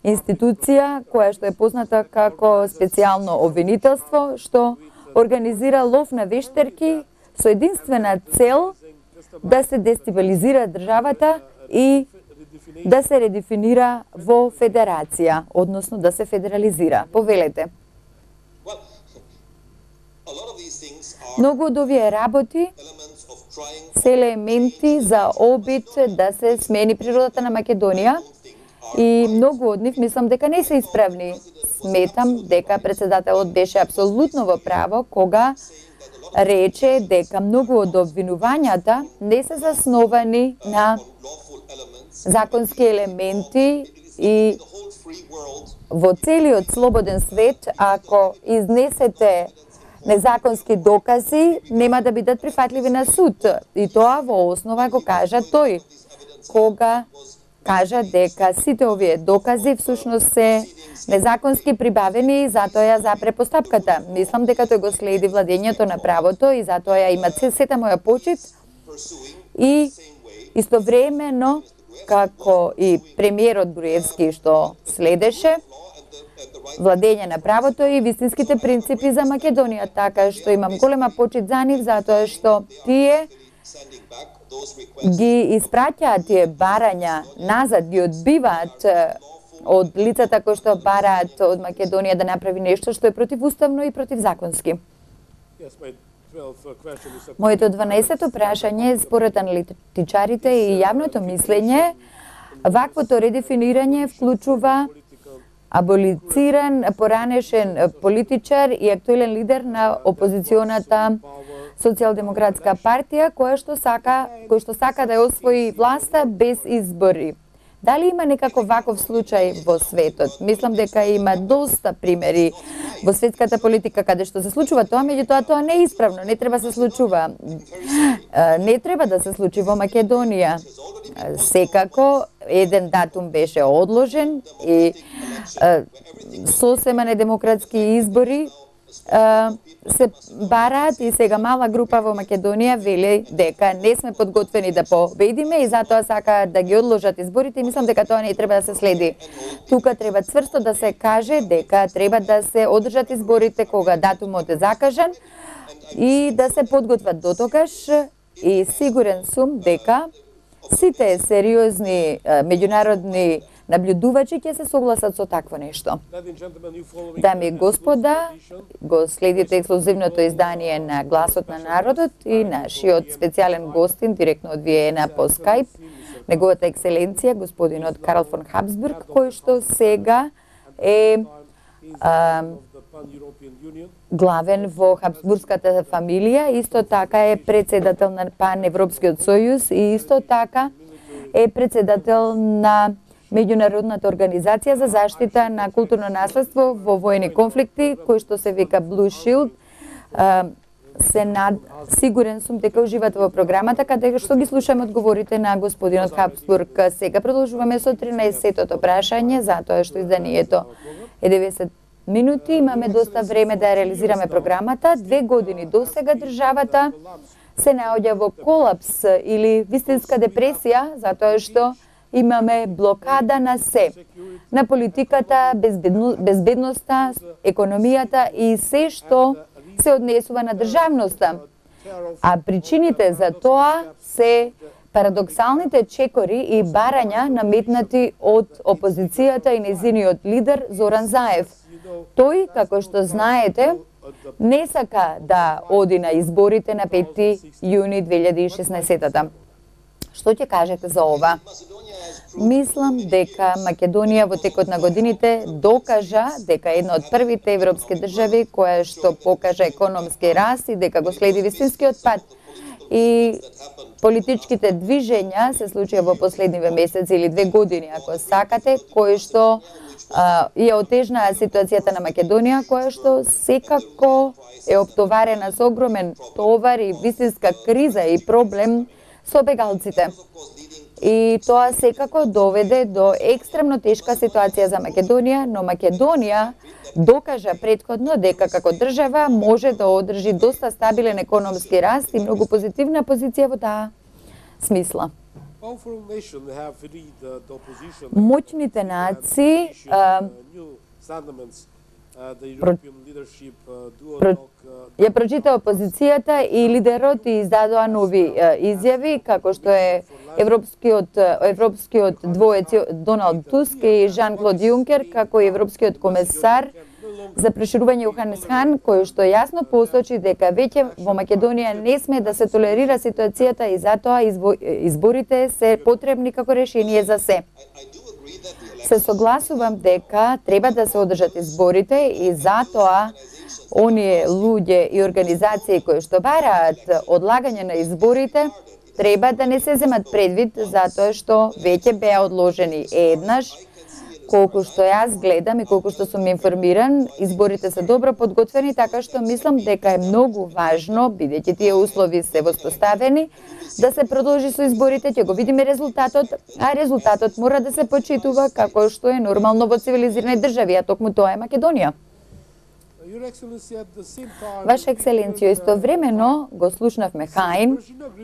институција која што е позната како специјално обвинителство, што организира лов на вештерки со единствена цел да се дестабилизира државата и да се редефинира во федерација, односно да се федерализира. Повелете. Многу од овие работи се елементи за обид да се смени природата на Македонија и многу од нив мислам дека не се исправни. Сметам дека председателот беше апсолутно во право кога рече дека многу од обвинувањата не се засновани на законски елементи и во целиот слободен свет, ако изнесете незаконски докази, нема да бидат прифатливи на суд. И тоа во основа го кажа тој, кога кажа дека сите овие докази всушност се незаконски прибавени и затоа ја запре постапката. Мислам дека тој го следи владењето на правото и затоа ја има сета моја почит и истовремено како и премиерот Груевски што следеше владење на правото и вистинските принципи за Македонија, така што имам голема почит за нив затоа што тие ги испраќаат тие барања назад, ги одбиваат од лицата кои што бараат од Македонија да направи нешто што е противуставно и противзаконски. Моето дванаесетто прашање според аналитичарите и јавното мислење, ваквото редефинирање вклучува аболициран, поранешен политичар и актуелен лидер на опозиционата Социјалдемократска партија која што сака, кој што сака да ја освои власта без избори. Дали има некаков ваков случај во светот? Мислам дека има доста примери во светската политика каде што се случува тоа, меѓутоа тоа не е исправно, не треба се случува. Не треба да се случи во Македонија. Секако еден датум беше одложен и сосема недемократски избори се бараат и сега мала група во Македонија вели дека не сме подготвени да победиме и затоа сакаат да ги одложат изборите и мислам дека тоа не треба да се следи. Тука треба цврсто да се каже дека треба да се одржат изборите кога датумот е закажан и да се подготват дотогаш и сигурен сум дека сите сериозни меѓународни наблюдувачи ќе се согласат со такво нешто. Дами и господа, го следите ексклузивното издание на Гласот на народот и нашиот специјален гостин директно од Виена по Скајп, неговата екселенција господинот Карл фон Хабсбург, кој што сега е а, главен во Хабсбургската фамилија, исто така е председател на Паневропскиот сојуз и исто така е председател на Меѓународната организација за заштита на културно наследство во воени конфликти, кој што се вика Blue Shield. Се над... Сигурен сум дека уживате во програмата, каде што ги слушаме одговорите на господинот Хабсбург. Сега продолжуваме со тринаесеттото прашање, затоа што изданието е деветдесет минути. Имаме доста време да реализираме програмата. Две години до сега државата се наоѓа во колапс или вистинска депресија, затоа што имаме блокада на се, на политиката, безбедно, безбедноста, економијата и се што се однесува на државноста. А причините за тоа се парадоксалните чекори и барања наметнати од опозицијата и незиниот лидер Зоран Заев. Тој, како што знаете, не сака да оди на изборите на пети јуни две илјади и шеснаесетта. Што ќе кажете за ова? Мислам дека Македонија во текот на годините докажа дека е една од првите европски држави која што покажа економски раст и дека го следи вистинскиот пат. И политичките движења се случија во последниве месеци или две години, ако сакате, кои што а, ја отежнаа ситуацијата на Македонија, која што секако е оптоварена со огромен товар и вистинска криза и проблем со бегалците. И тоа секако доведе до екстремно тешка ситуација за Македонија, но Македонија докажа претходно дека како држава може да одржи доста стабилен економски раст и многу позитивна позиција во таа смисла. Моќните нации Про... Про... ја прочита опозицијата и лидерот и издадоа нови е, изјави, како што е европскиот европскиот двоец Доналд Туск и Жан-Клод Јункер, како и европскиот комесар за проширување Јоханес Хан, кој што јасно посочи дека веќе во Македонија не сме да се толерира ситуацијата и затоа изборите се потребни како решение за се. Се согласувам дека треба да се одржат изборите и затоа оние луѓе и организации кои што бараат одлагање на изборите треба да не се земат предвид затоа што веќе беа одложени еднаш. Колку што јас гледам и колку што сум информиран, изборите се добро подготвени, така што мислам дека е многу важно, бидејќи тие услови се воспоставени, да се продолжи со изборите, ќе го видиме резултатот, а резултатот мора да се почитува како што е нормално во цивилизирани држави, а токму тоа е Македонија. Ваша екселенцијо, истовремено го слушнавме Хаин,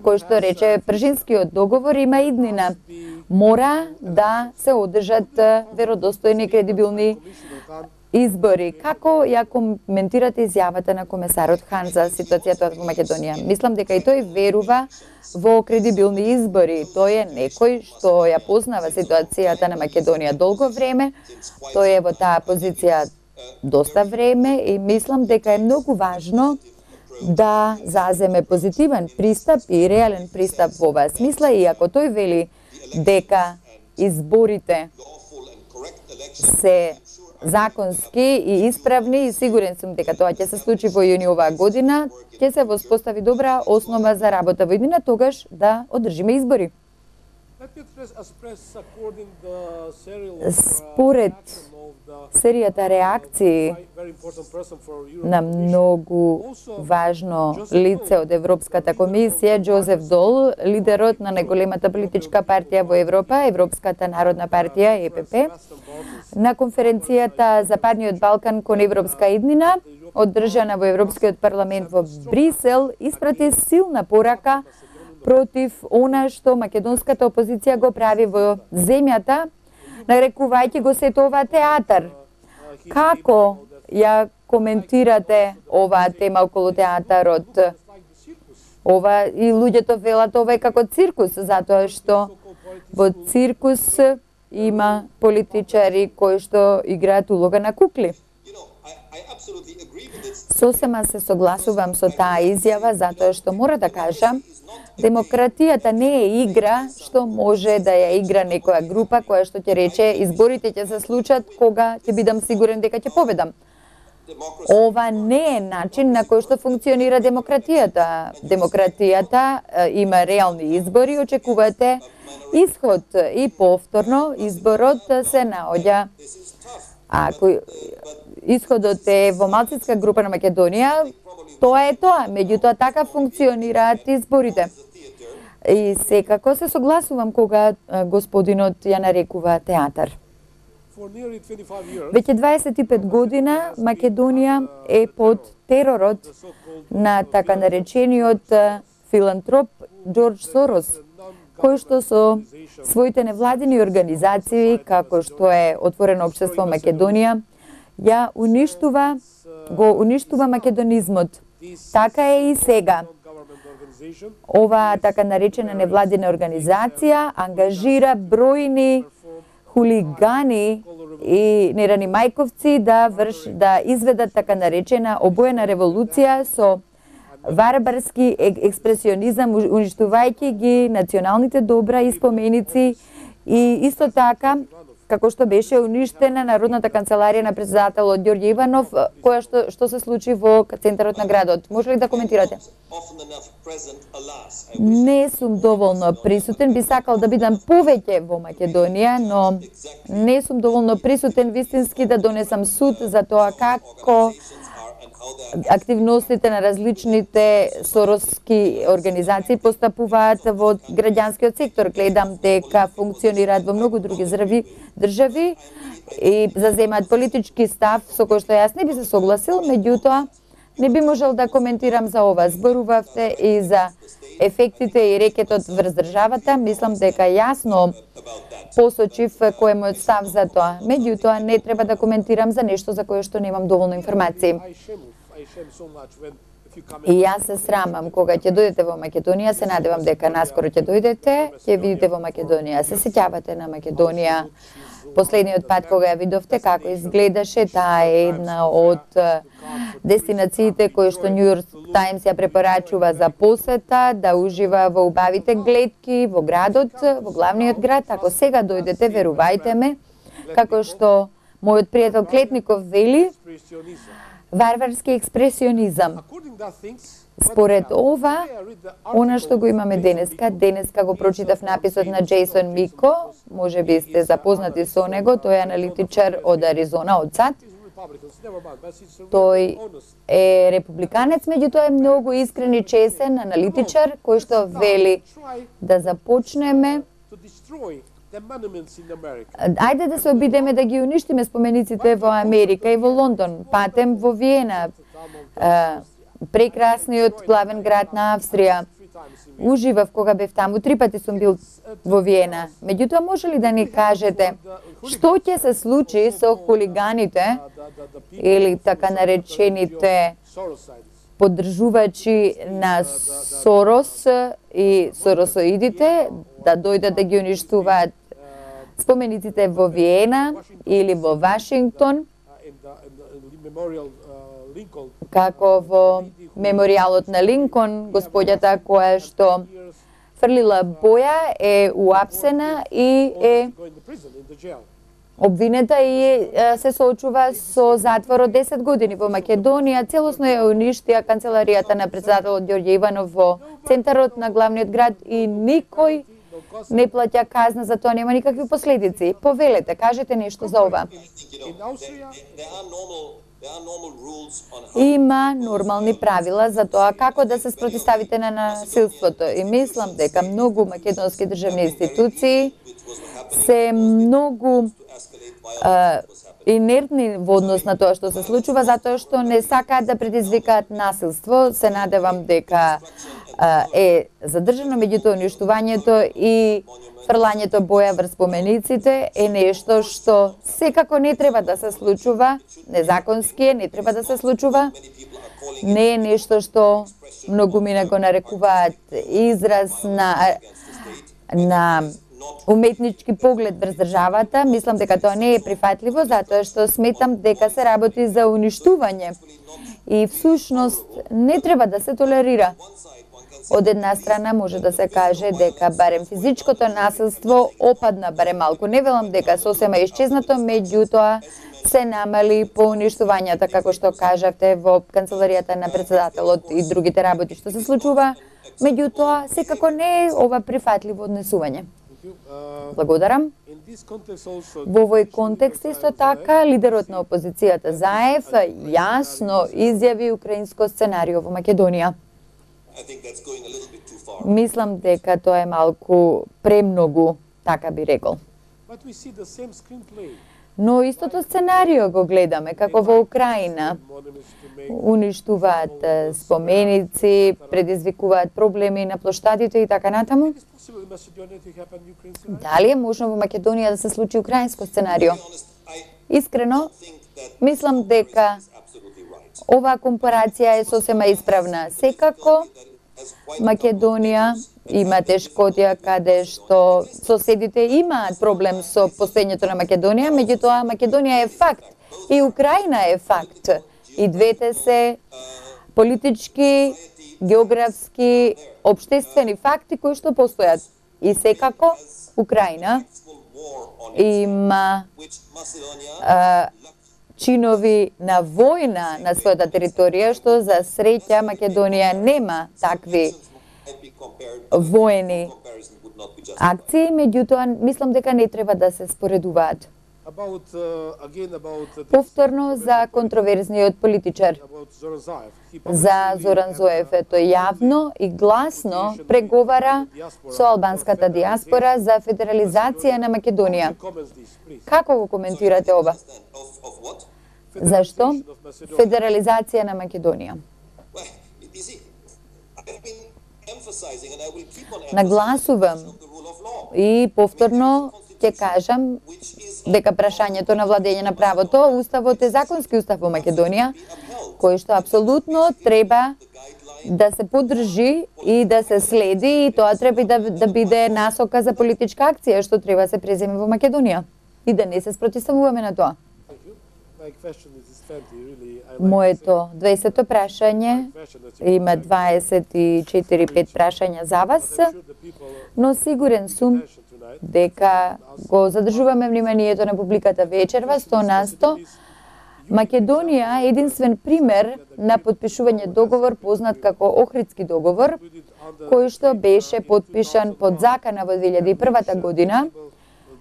кој што рече Пржинскиот договор има иднина. Мора да се одржат веродостојни и кредибилни избори. Како ја коментирате изјавата на комесарот Хан за ситуацијата во Македонија? Мислам дека и тој верува во кредибилни избори. Тој е некој што ја познава ситуацијата на Македонија долго време. Тој е во таа позиција доста време и мислам дека е многу важно да заземе позитивен пристап и реален пристап во оваа смисла, и ако тој вели дека изборите се законски и исправни, и сигурен сум дека тоа ќе се случи во јуни оваа година, ќе се воспостави добра основа за работа во иднина, тогаш да одржиме избори. Според серијата реакции на многу важно лице од Европската комисија, Џозеф Дол, лидерот на најголемата политичка партија во Европа, Европската народна партија, Е Пе Пе, на конференцијата Западниот Балкан кон Европска иднина, одржана во Европскиот парламент во Брисел, испрати силна порака против она што македонската опозиција го прави во земјата, нарекувајќи го сето ова театар. Како ја коментирате оваа тема околу театарот? Ова и луѓето велат ова е како циркус, затоа што во циркус има политичари кои што играат улога на кукли. Сосема се согласувам со таа изјава, затоа што мора да кажам, демократијата не е игра што може да ја игра некоја група која што ќе рече изборите ќе се случат кога ќе бидам сигурен дека ќе победам. Ова не е начин на кој што функционира демократијата. Демократијата е, има реални избори, очекувате исход и повторно изборот се наоѓа. Ако исходот е во малцинска група на Македонија, тоа е тоа, меѓутоа така функционираат изборите. И секако се согласувам кога господинот ја нарекува театар. Веќе дваесет и пет година Македонија е под теророт на така наречениот филантроп Џорџ Сорос, кој што со своите невладини организации, како што е Отворено општество Македонија, ја уништува, го уништува македонизмот. Така е и сега. Ова така наречена невладина организација ангажира бројни хулигани и нерани мајковци да врш да изведат така наречена обоена револуција со варбарски експресионизам, уништувајќи ги националните добра и споменици, и исто така како што беше уништена Народната канцеларија на председателот Ѓорѓе Иванов, која што, што се случи во центарот на градот. Може ли да коментирате? Не сум доволно присутен, би сакал да бидам повеќе во Македонија, но не сум доволно присутен вистински да донесам суд за тоа како активностите на различните сороски организации постапуваат во граѓанскиот сектор. Гледам дека функционираат во многу други држави и заземаат политички став со кој што јас не би се согласил, меѓутоа не би можел да коментирам за ова. Зборувавте и за ефектите и рекетот врз државата. Мислам дека јасно посочив кој е мојот став за тоа. Меѓутоа не треба да коментирам за нешто за кое што немам доволно информации. И јас се срамам кога ќе дојдете во Македонија, се надевам дека наскоро ќе дојдете, ќе видите во Македонија, се сеќавате на Македонија последниот пат кога ја видовте како изгледаше, таа е една од дестинациите кои што New York Times ја препорачува за посета, да ужива во убавите гледки во градот, во главниот град. Ако сега дојдете, верувајте ме, како што мојот пријател Клетников вели, варварски експресионизам. Според ова, она што го имаме денеска, денеска го прочитав написот на Джейсон Мико, може би сте запознати со него, тој е аналитичар од Аризона, од САД. Тој е републиканец, меѓутоа е многу искрен и чесен аналитичар, кој што вели да започнеме Ајде да се обидеме да ги уништиме спомениците во Америка и во Лондон, патем во Виена, прекрасниот главен град на Австрија. Уживав кога бев таму, три пати сум бил во Виена. Меѓутоа, може ли да ни кажете што ќе се случи со хулиганите или така наречените поддржувачи на Сорос и соросоидите да дојдат да ги уништуваат спомениците во Виена или во Вашингтон, како во меморијалот на Линкон, господјата која што фрлила боја е уапсена и е обвинета и се соочува со затвор од десет години. Во Македонија целосно ја уништија канцеларијата на председателот Ѓорѓе Иванов во центарот на главниот град и никој не плаќа казна за тоа, нема никакви последици. Повелете, кажете нешто за ова. Има нормални правила за тоа како да се спротиставите на насилството и мислам дека многу македонски државни институции се многу а, инертни во однос на тоа што се случува, затоа што не сакаат да предизвикаат насилство. Се надевам дека а, е задржано, меѓутоа уништувањето и фрлањето боја врз спомениците е нешто што секако не треба да се случува, незаконски е, не треба да се случува, не е нешто што многу мина го нарекуваат израз на на уметнички поглед врз државата. Мислам дека тоа не е прифатливо, затоа што сметам дека се работи за уништување и всушност не треба да се толерира. Од една страна може да се каже дека барем физичкото насилство опадна, барем малку. Не велам дека сосема исчезнато, меѓутоа се намали по уништувањата, како што кажавте, во канцеларијата на председателот и другите работи што се случува. Меѓутоа, секако не е ова прифатливо однесување. Благодарам. Во овој контекст исто така, лидерот на опозицијата Заев јасно изјави украинско сценарио во Македонија. Мислам дека тоа е малку премногу, така би рекол. Но истото сценарио го гледаме, како во Украина. Уништуваат споменици, предизвикуваат проблеми на плоштадите и така натаму. Дали е можно во Македонија да се случи украинско сценарио? Искрено, мислам дека оваа компарација е сосема исправна. Секако, Македонија има тешкотија каде што соседите имаат проблем со постоењето на Македонија, меѓутоа Македонија е факт и Украина е факт. И двете се политички, географски, обштествени факти кои што постојат. И секако Украина има а, чинови на војна на својата територија, што за среќа Македонија нема такви воени акции, меѓутоа мислам дека не треба да се споредуваат. Повторно за контроверзниот политичар, за Зоран Зоев, тој јавно и гласно преговара со албанската диаспора за федерализација на Македонија. Како го коментирате ова? Зашто? Федерализација на Македонија. Нагласувам и повторно ќе кажам дека прашањето на владење на правото, уставот е законски устав во Македонија, кој што апсолутно треба да се поддржи и да се следи, и тоа треба да, да биде насока за политичка акција што треба да се преземе во Македонија. и да не се спротивставуваме на тоа. Моето дваесетто прашање, има дваесет и четири пет прашања за вас, но сигурен сум дека го задржуваме вниманието на публиката вечерва, сто на сто. Македонија е единствен пример на подпишување договор познат како Охридски договор, кој што беше подпишан под закана во две илјади и прва година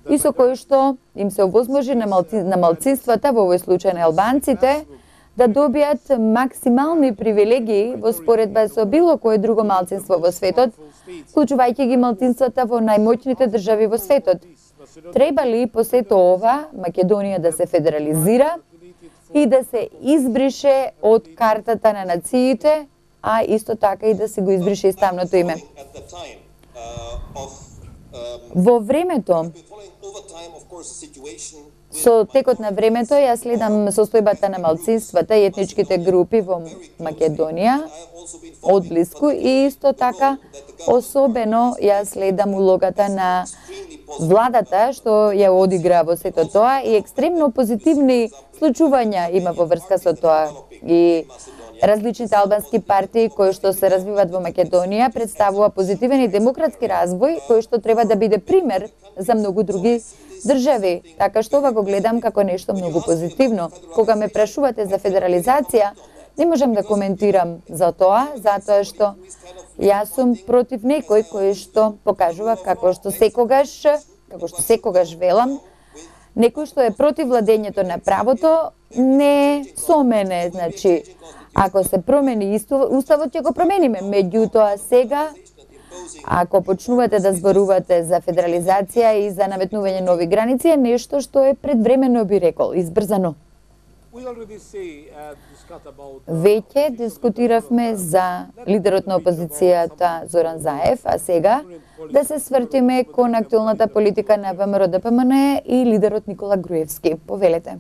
и со кој што им се овозможи на, малци, на малцинствата, во овој случај на албанците, да добијат максимални привилегии во споредба со било кое друго малцинство во светот, вклучувајќи ги малцинствата во најмоćните држави во светот. Треба ли по сето ова Македонија да се федерализира и да се избрише од картата на нациите, а исто така и да се го избрише и ставното име? Во времето, со текот на времето, јас следам состојбата на малцинствата и етничките групи во Македонија одблиску и исто така особено јас следам улогата на владата што ја одигра во сето тоа и екстремно позитивни случувања има во врска со тоа. И различните албански партии кои што се развиваат во Македонија представува позитивен и демократски развој кој што треба да биде пример за многу други држави. Така што ова го гледам како нешто многу позитивно. Кога ме прашувате за федерализација, не можам да коментирам за тоа, затоа што јас сум против некој кој што покажува како што секогаш, како што секогаш велам, некој што е против владењето на правото, не со мене, значи, ако се промени уставот, ќе го промениме. Меѓутоа сега, ако почнувате да зборувате за федерализација и за наметнување нови граници, е нешто што е предвремено, би рекол, избрзано. Веќе дискутиравме за лидерот на опозицијата Зоран Заев, а сега да се свртиме кон актуелната политика на ВМРО Д П М Н и лидерот Никола Груевски. Повелете.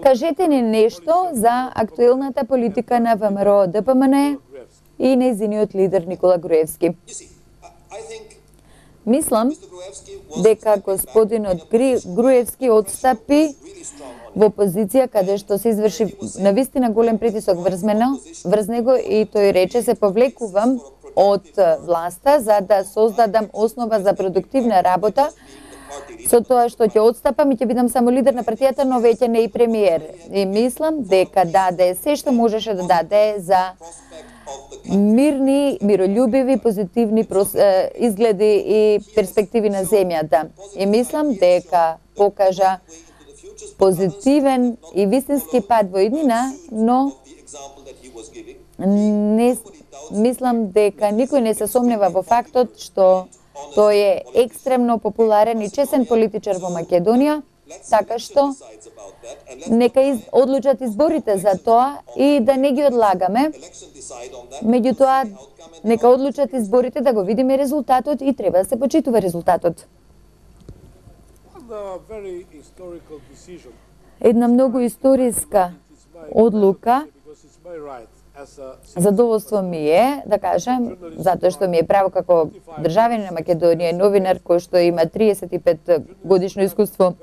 Кажете ни нешто за актуелната политика на ВМРО Д П М Н и нејзиниот лидер Никола Груевски. Мислам дека господинот Груевски отстапи во позиција каде што се изврши навистина голем притисок врз мене, врз него и тој рече се повлекувам од власта за да создадам основа за продуктивна работа со тоа што ќе отстапам и ќе бидам само лидер на партијата, но веќе не и премиер. И мислам дека даде се што можеше да даде за мирни, миролюбиви, позитивни изгледи и перспективи на земјата. И мислам дека покажа позитивен и вистински пат во иднина, но не мислам дека никој не се сомнева во фактот што тој е екстремно популарен и чесен политичар во Македонија, така што нека из, одлучат изборите за тоа и да не ги одлагаме. Меѓутоа, нека одлучат изборите да го видиме резултатот и треба да се почитува резултатот. Една многу историска одлука, задоволство ми е, да кажем, затоа што ми е право како државјанин на Македонија, новинар кој што има триесет и пет годишно искуство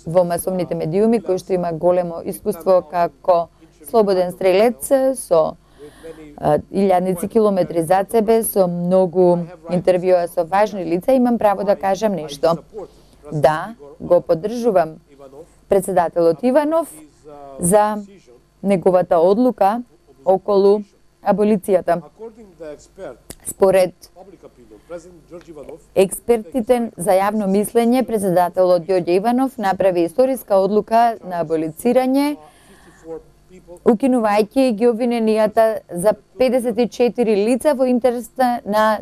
во масовните медиуми, кој што има големо искуство како слободен стрелец со илјадници километри зад себе, со многу интервјуа со важни лица, имам право да кажам нешто. Да, го поддржувам председателот Иванов за неговата одлука околу аболицијата. Според експертите за јавно мислење, председателот Ѓорѓе Иванов направи историска одлука на аболицирање, укинувајќи ги обвиненијата за педесет и четири лица во интерес на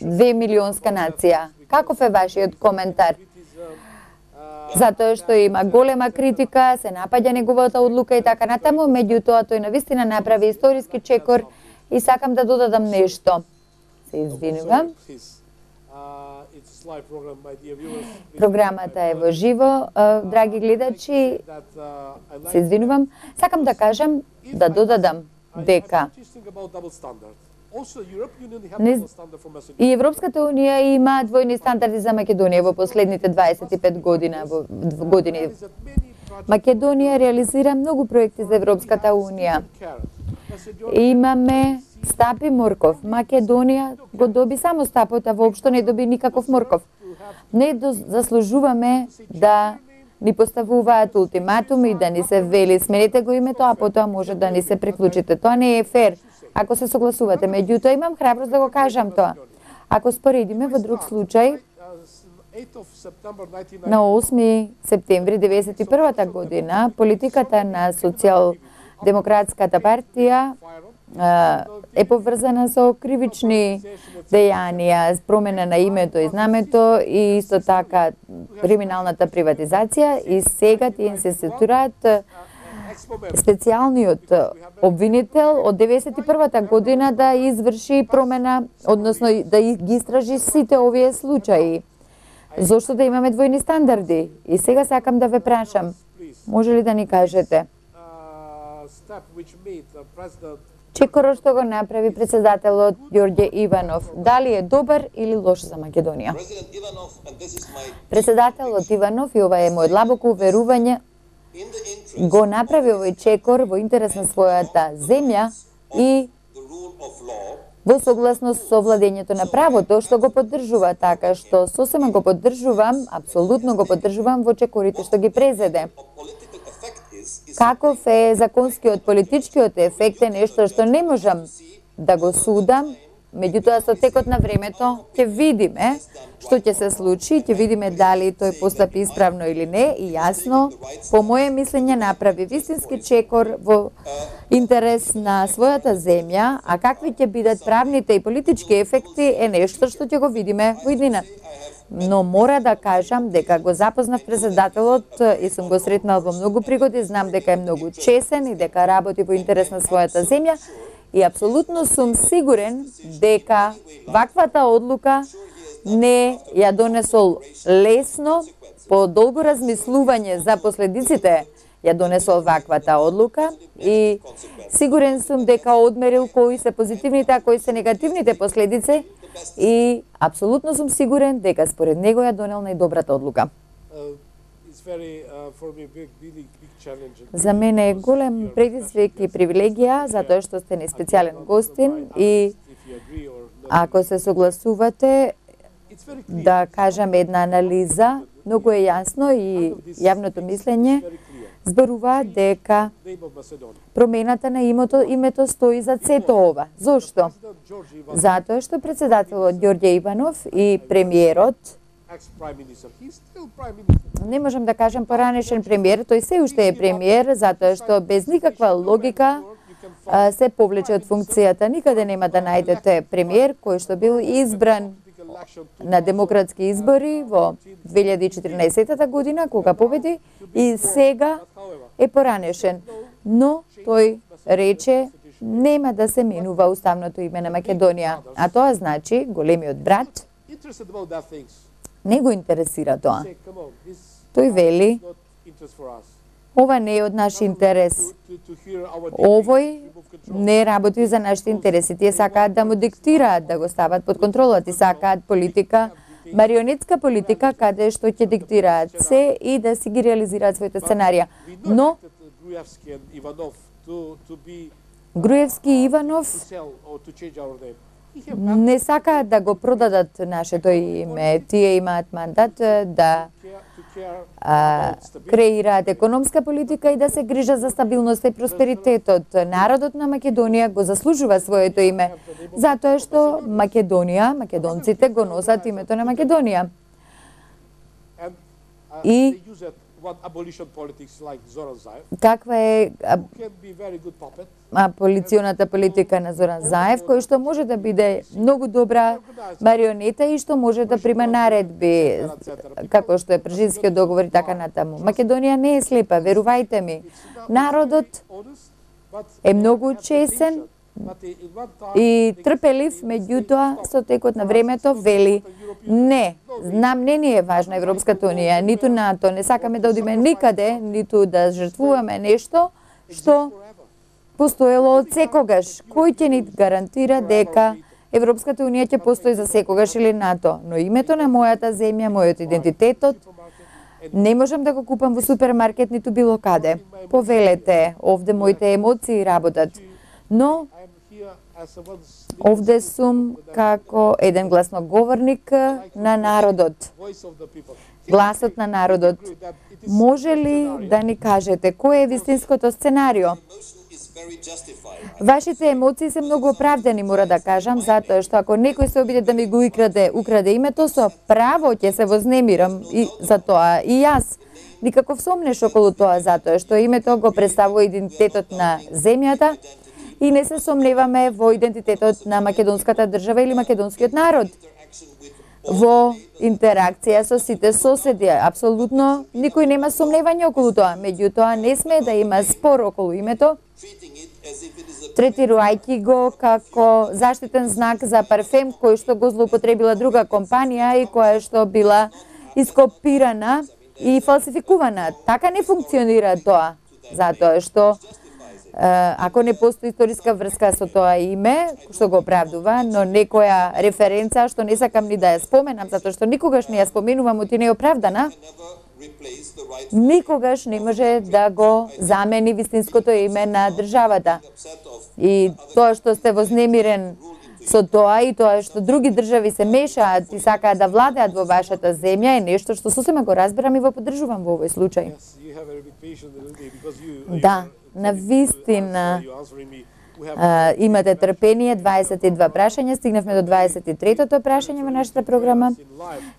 две милионска нација. Каков е вашиот коментар? Затоа што има голема критика, се напаѓа неговата одлука и така натаму, меѓутоа тој навистина направи историски чекор и сакам да додадам нешто. Се извинувам. Програмата е во живо, драги гледачи, се извинувам. Сакам да кажам, да додадам дека Не... И Европската унија има двојни стандарди за Македонија во последните дваесет и пет година, во години. Македонија реализира многу проекти за Европската унија. Имаме стап и морков. Македонија го доби само стапот, а воопшто не доби никаков морков. Не заслужуваме да ни поставуваат ултиматуми, да ни се вели сменете го името, а потоа може да ни се приклучите. Тоа не е фер, ако се согласувате. Меѓутоа имам храброст да го кажам тоа. Ако споредиме во друг случај, на осми септември деветдесет и првата година, политиката на Социјалдемократската партија е поврзана со кривични дејанија, промена на името и знамето и исто така криминалната приватизација, и сега тие се сетираат специјалниот обвинител од деветдесет и првата година да изврши промена, односно да ги истражи сите овие случаи. Зошто да имаме двојни стандарди? И сега сакам да ве прашам, може ли да ни кажете чекорот што го направи председателот Ѓорѓе Иванов, дали е добар или лош за Македонија? Председателот Иванов, и ова е мојот длабоко уверување, го направи овој чекор во интерес на својата земја и во согласност со владењето на правото, што го поддржува, така што сосема го поддржувам, апсолутно го поддржувам во чекорите што ги презеде. Каков е законскиот политичкиот ефект е нешто што не можам да го судам, меѓутоа со текот на времето ќе видиме што ќе се случи, ќе видиме дали тој постапи исправно или не, и јасно, по моје мислење, направи вистински чекор во интерес на својата земја, а какви ќе бидат правните и политички ефекти е нешто што ќе го видиме во иднина. Но мора да кажам дека го запознав председателот и сум го сретнал во многу пригоди, знам дека е многу чесен и дека работи во интерес на својата земја, и апсолутно сум сигурен дека ваквата одлука не ја донесол лесно, по долго размислување за последиците ја донесол ваквата одлука, и сигурен сум дека одмерил кои се позитивните, а кои се негативните последици, и апсолутно сум сигурен дека според него ја донел најдобрата одлука. За мене е голем предизвик и привилегија, затоа што сте ни специјален гостин, и ако се согласувате да кажам една анализа, многу е јасно и јавното мислење зборува дека промената на името, името стои за сето ова. Зошто? Затоа што председателот Ѓорѓе Иванов и премиерот, не можам да кажам поранешен премиер, тој се уште е премиер, затоа што без никаква логика се повлече од функцијата. Никаде нема да најдете премиер кој што бил избран на демократски избори во две илјади и четирнаесета година, кога победи, и сега е поранешен. Но тој рече нема да се менува уставното име на Македонија, а тоа значи големиот брат не го интересира тоа. Тој вели, ова не е од наш интерес. Овој не работи за нашите интереси. Тие сакаат да му диктираат, да го стават под контрола. Ти сакаат политика, марионетска политика, каде што ќе диктираат се и да си ги реализираат своите сценарија. Но Груевски и Иванов не сакаат да го продадат нашето име. Тие имаат мандат да а, креираат економска политика и да се грижат за стабилноста и просперитетот. Народот на Македонија го заслужува своето име, затоа што Македонија, македонците го носат името на Македонија. И каква е аболиционата политика на Зоран Заев, кој што може да биде многу добра марионета и што може да прима наредби, како што е Пржинскиот договор и така натаму. Македонија не е слепа, верувајте ми. Народот е многу чесен и трпелив, меѓутоа со текот на времето вели не, знам не ни е важна Европската унија, ниту НАТО, не сакаме да одиме никаде, ниту да жртвуваме нешто што постоело од секогаш. Кој ќе ни гарантира дека Европската унија ќе постои за секогаш или НАТО? Но името на мојата земја, мојот идентитетот, не можам да го купам во супермаркет ниту било каде. Повелете, овде моите емоции работат. Но овде сум како еден гласноговорник на народот. Гласот на народот. Може ли да ни кажете кој е вистинското сценарио? Вашите емоции се многу оправдани, мора да кажам, затоа што ако некој се обиде да ми го украде, украде името, со право ќе се вознемирам и за тоа и јас. Никаков сомнеш околу тоа, затоа што името го представува идентитетот на земјата и не се сомневаме во идентитетот на македонската држава или македонскиот народ. Во интеракција со сите соседи, апсолутно никој нема сомневање околу тоа, меѓутоа не сме да има спор околу името, третирајќи го како заштитен знак за парфем кој што го злоупотребила друга компанија и која што била ископирана и фалсификувана. Така не функционира тоа, затоа што ако не постои историска врска со тоа име, што го оправдува, но некоја референца што не сакам ни да ја споменам, затоа што никогаш не ја споменувам, оти не е оправдана, никогаш не може да го замени вистинското име на државата. И тоа што сте вознемирен со тоа и тоа што други држави се мешаат и сакаат да владеат во вашата земја е нешто што сосема го разбирам и го поддржувам во овој случај. Да, на вистина а, имате трпение, дваесет и два прашања, стигнавме до дваесет и третото прашање во нашата програма.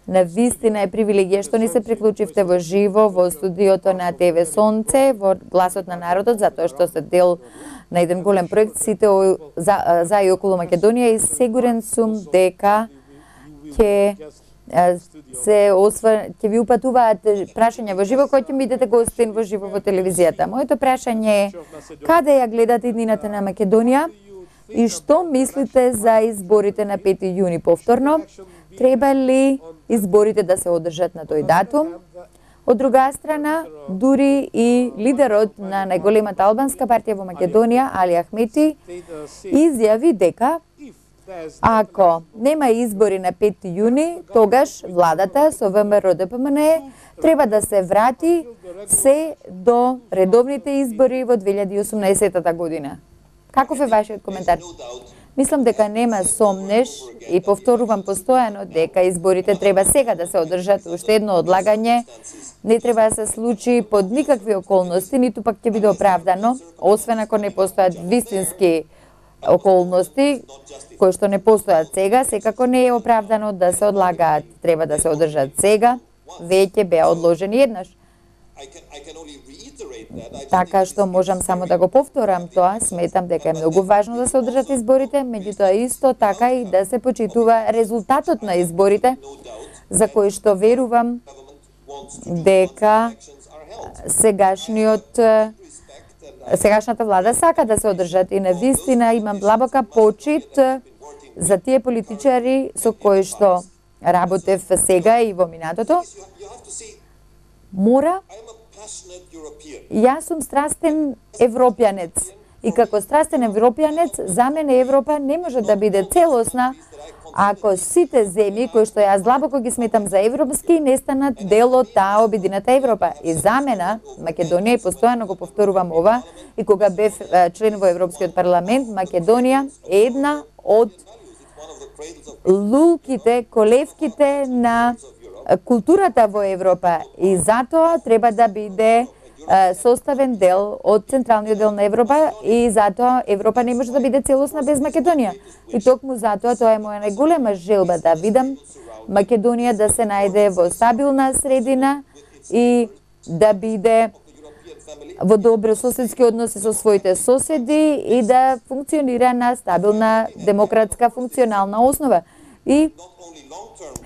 На вистина е привилегија што ни се приклучивте во живо во студиото на ТВ Сонце, во Гласот на народот, затоа што сте дел на еден голем проект сите за, за и околу Македонија и сигурен сум дека ќе се осва, ќе ви упатуваат прашања во живо кои ќе бидете гостин во живо во телевизијата. Моето прашање е каде ја гледате иднината на Македонија и што мислите за изборите на пети јуни повторно? Треба ли изборите да се одржат на тој датум? Од друга страна, дури и лидерот на најголемата албанска партија во Македонија, Али Ахмети, изјави дека ако нема избори на пети јуни, тогаш владата со ВМРО Д П М Н Е треба да се врати се до редовните избори во две илјади и осумнаесетта година. Каков е вашиот коментар? Мислам дека нема сомнеш и повторувам постојано дека изборите треба сега да се одржат, уште едно одлагање не треба да се случи под никакви околности, ниту пак ќе биде оправдано, освен ако не постојат вистински околности кои што не постојат сега, секако не е оправдано да се одлагаат. Треба да се одржат сега, веќе беа одложени еднаш. Така што можам само да го повторам тоа, сметам дека е многу важно да се одржат изборите, меѓутоа исто така и да се почитува резултатот на изборите, за кои што верувам дека сегашниот сегашната влада сака да се одржат и на вистина имам длабока почит за тие политичари со кои што работев сега и во минатото. Мора, јас сум страстен европјанец и како страстен европјанец за мене Европа не може да биде целосна ако сите земји кои што јас длабоко ги сметам за европски не станат дел од таа обединета Европа. И за мене Македонија, и постојано го повторувам ова, и кога бев член во Европскиот парламент, Македонија е една од лулките, колевките на културата во Европа и затоа треба да биде составен дел од централниот дел на Европа и затоа Европа не може да биде целосна без Македонија. И токму затоа тоа е моја најголема желба да видам Македонија да се најде во стабилна средина и да биде во добро соседски односи со своите соседи и да функционира на стабилна демократска функционална основа. И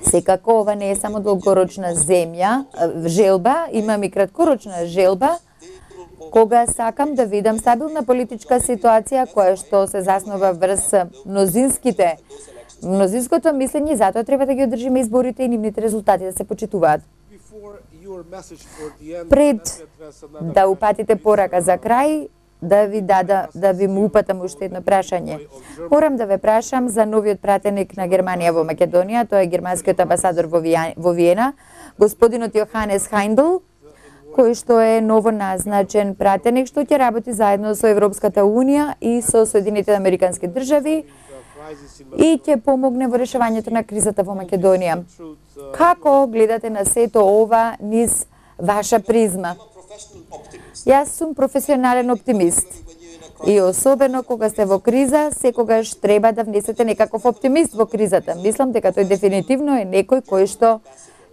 секако ова не е само долгорочна земја, желба, имам и краткорочна желба, кога сакам да видам стабилна политичка ситуација која што се заснова врз мнозинските, мнозинското мислење, затоа треба да ги одржиме изборите и нивните резултати да се почитуваат. Пред да упатите порака за крај, да ви дада, да ви му упатам уште едно прашање. Морам да ве прашам за новиот пратеник на Германија во Македонија, тоа е германскиот амбасадор во Виена, господинот Јоханес Хајндл, кој што е ново назначен пратеник, што ќе работи заедно со Европската Унија и со Соединетите Американски држави и ќе помогне во решавањето на кризата во Македонија. Како гледате на сето ова низ ваша призма? Јас сум професионален оптимист. И особено кога сте во криза, секогаш треба да внесете некаков оптимист во кризата. Мислам дека тој дефинитивно е некој кој што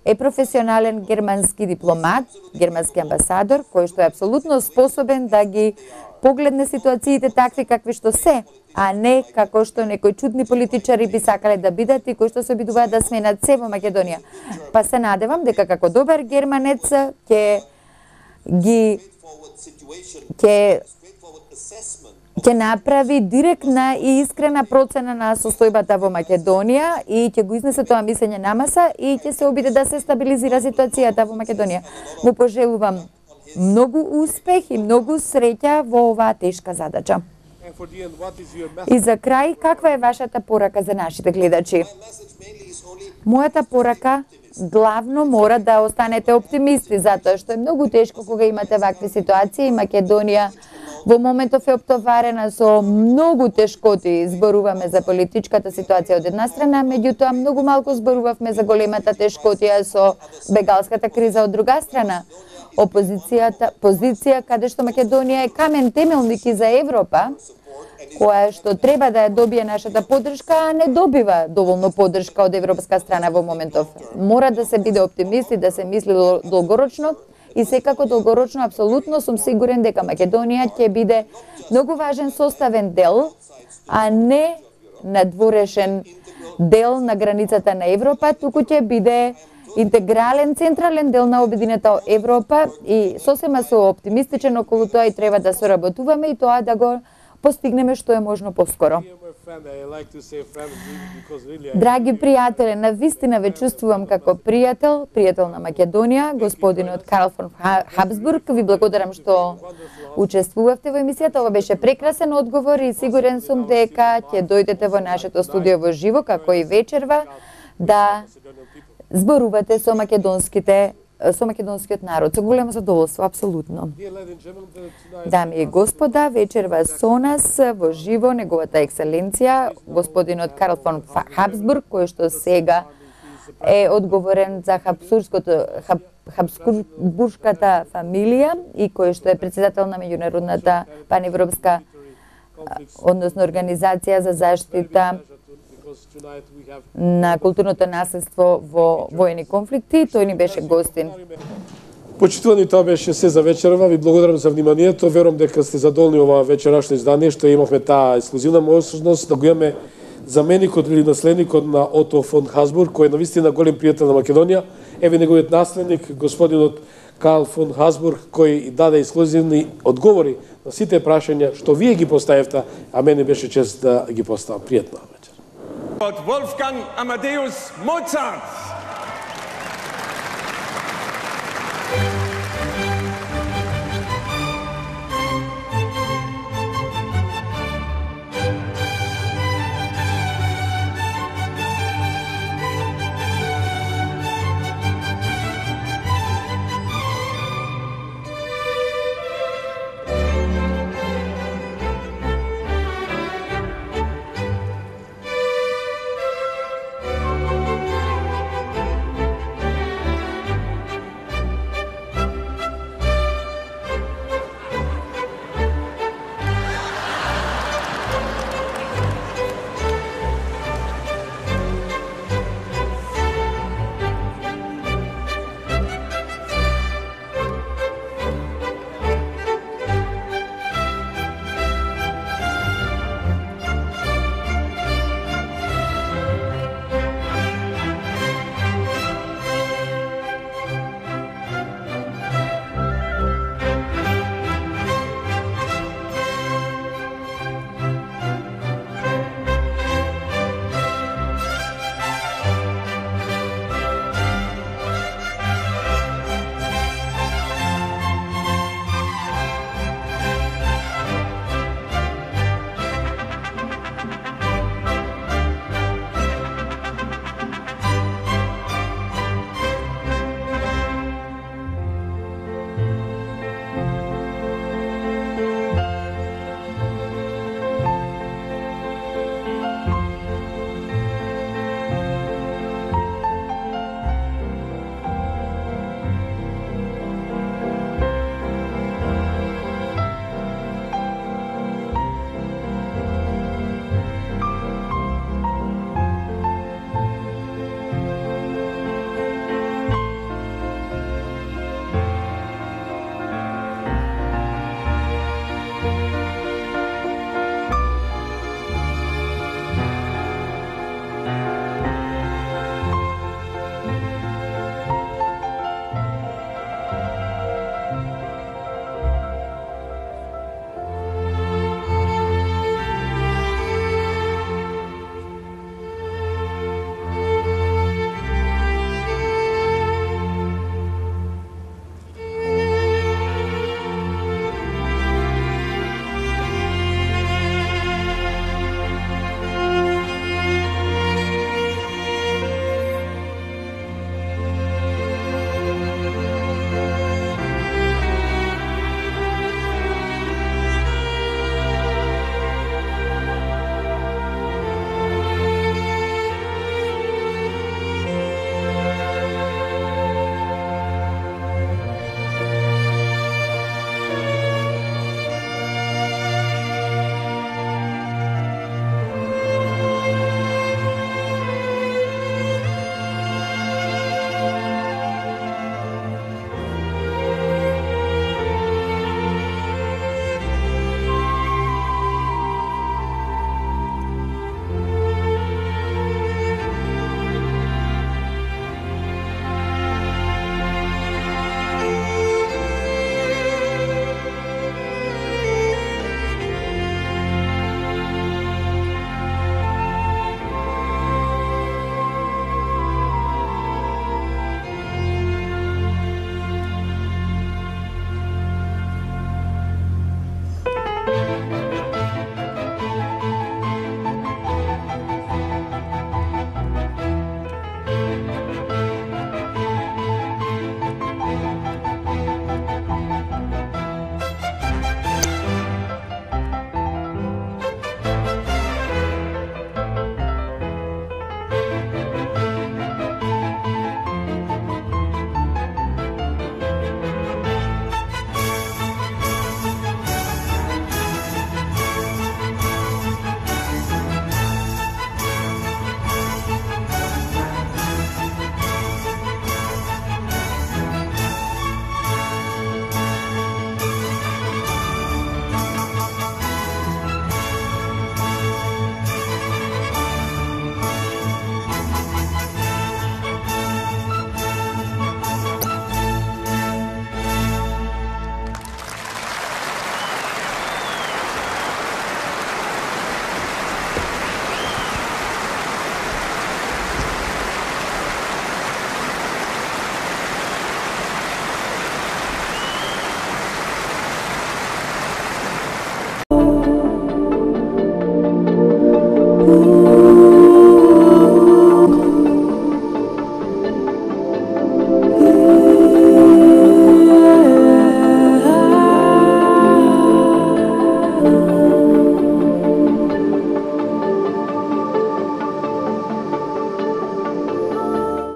е професионален германски дипломат, германски амбасадор, кој што е апсолутно способен да ги погледне ситуациите такви какви што се, а не како што некои чудни политичари би сакале да бидат и кои што се обидуваат да сменат се во Македонија. Па се надевам дека како добар германец ќе ги ќе ќе направи директна и искрена процена на состојбата во Македонија и ќе го изнесе тоа мислење на маса и ќе се обиде да се стабилизира ситуацијата во Македонија. Му пожелувам многу успех и многу среќа во оваа тешка задача. И за крај, каква е вашата порака за нашите гледачи? Мојата порака главно мора да останете оптимисти, затоа што е многу тешко кога имате вакви ситуации. Македонија во моментов е оптоварена со многу тешкоти. Зборуваме за политичката ситуација од една страна, меѓутоа многу малку зборувавме за големата тешкотија со бегалската криза од друга страна. Опозицијата, позиција каде што Македонија е камен темелник и за Европа, која што треба да ја добие нашата поддршка, а не добива доволно поддршка од европска страна во моментов. Мора да се биде оптимист и да се мисли долгорочно и секако долгорочно апсолутно сум сигурен дека Македонија ќе биде многу важен составен дел, а не надворешен дел на границата на Европа, туку ќе биде интегрален, централен дел на обединета Европа и сосема со оптимистичен околу тоа и треба да соработуваме и тоа да го постигнеме што е можно поскоро. Драги пријатели, на вистина ве чувствувам како пријател, пријател на Македонија, господинот Карл фон Хабсбург. Ви благодарам што учествувавте во емисијата. Ова беше прекрасен одговор и сигурен сум дека ќе дојдете во нашето студио во живо, како и вечерва, да зборувате со македонските со македонскиот народ. Со големо задоволство, апсолутно. Дами и господа, вечерва со нас во живо неговата екселенција, господинот Карл фон Хабсбург, кој што сега е одговорен за Хабсбургското Хаб, Хабсбургската фамилија и кој што е председател на меѓународната паневропска односно организација за заштита на културното наследство во воени конфликти. Тој ни беше гостин. Почитувани, тоа беше се за вечерва. Ви благодарам за вниманието. Верувам дека сте задоволни ова вечерашно издание, што имавме таа ексклузивна можност да го имаме заменикот или наследникот на Ото фон Хабсбург, кој е навистина голем пријател на Македонија. Еве неговиот наследник, господинот Карл фон Хабсбург, кој даде ексклузивни одговори на сите прашања што вие ги поставивте, а мене беше чест да ги поставам. Пријатна вечер. Wolfgang Amadeus Mozart.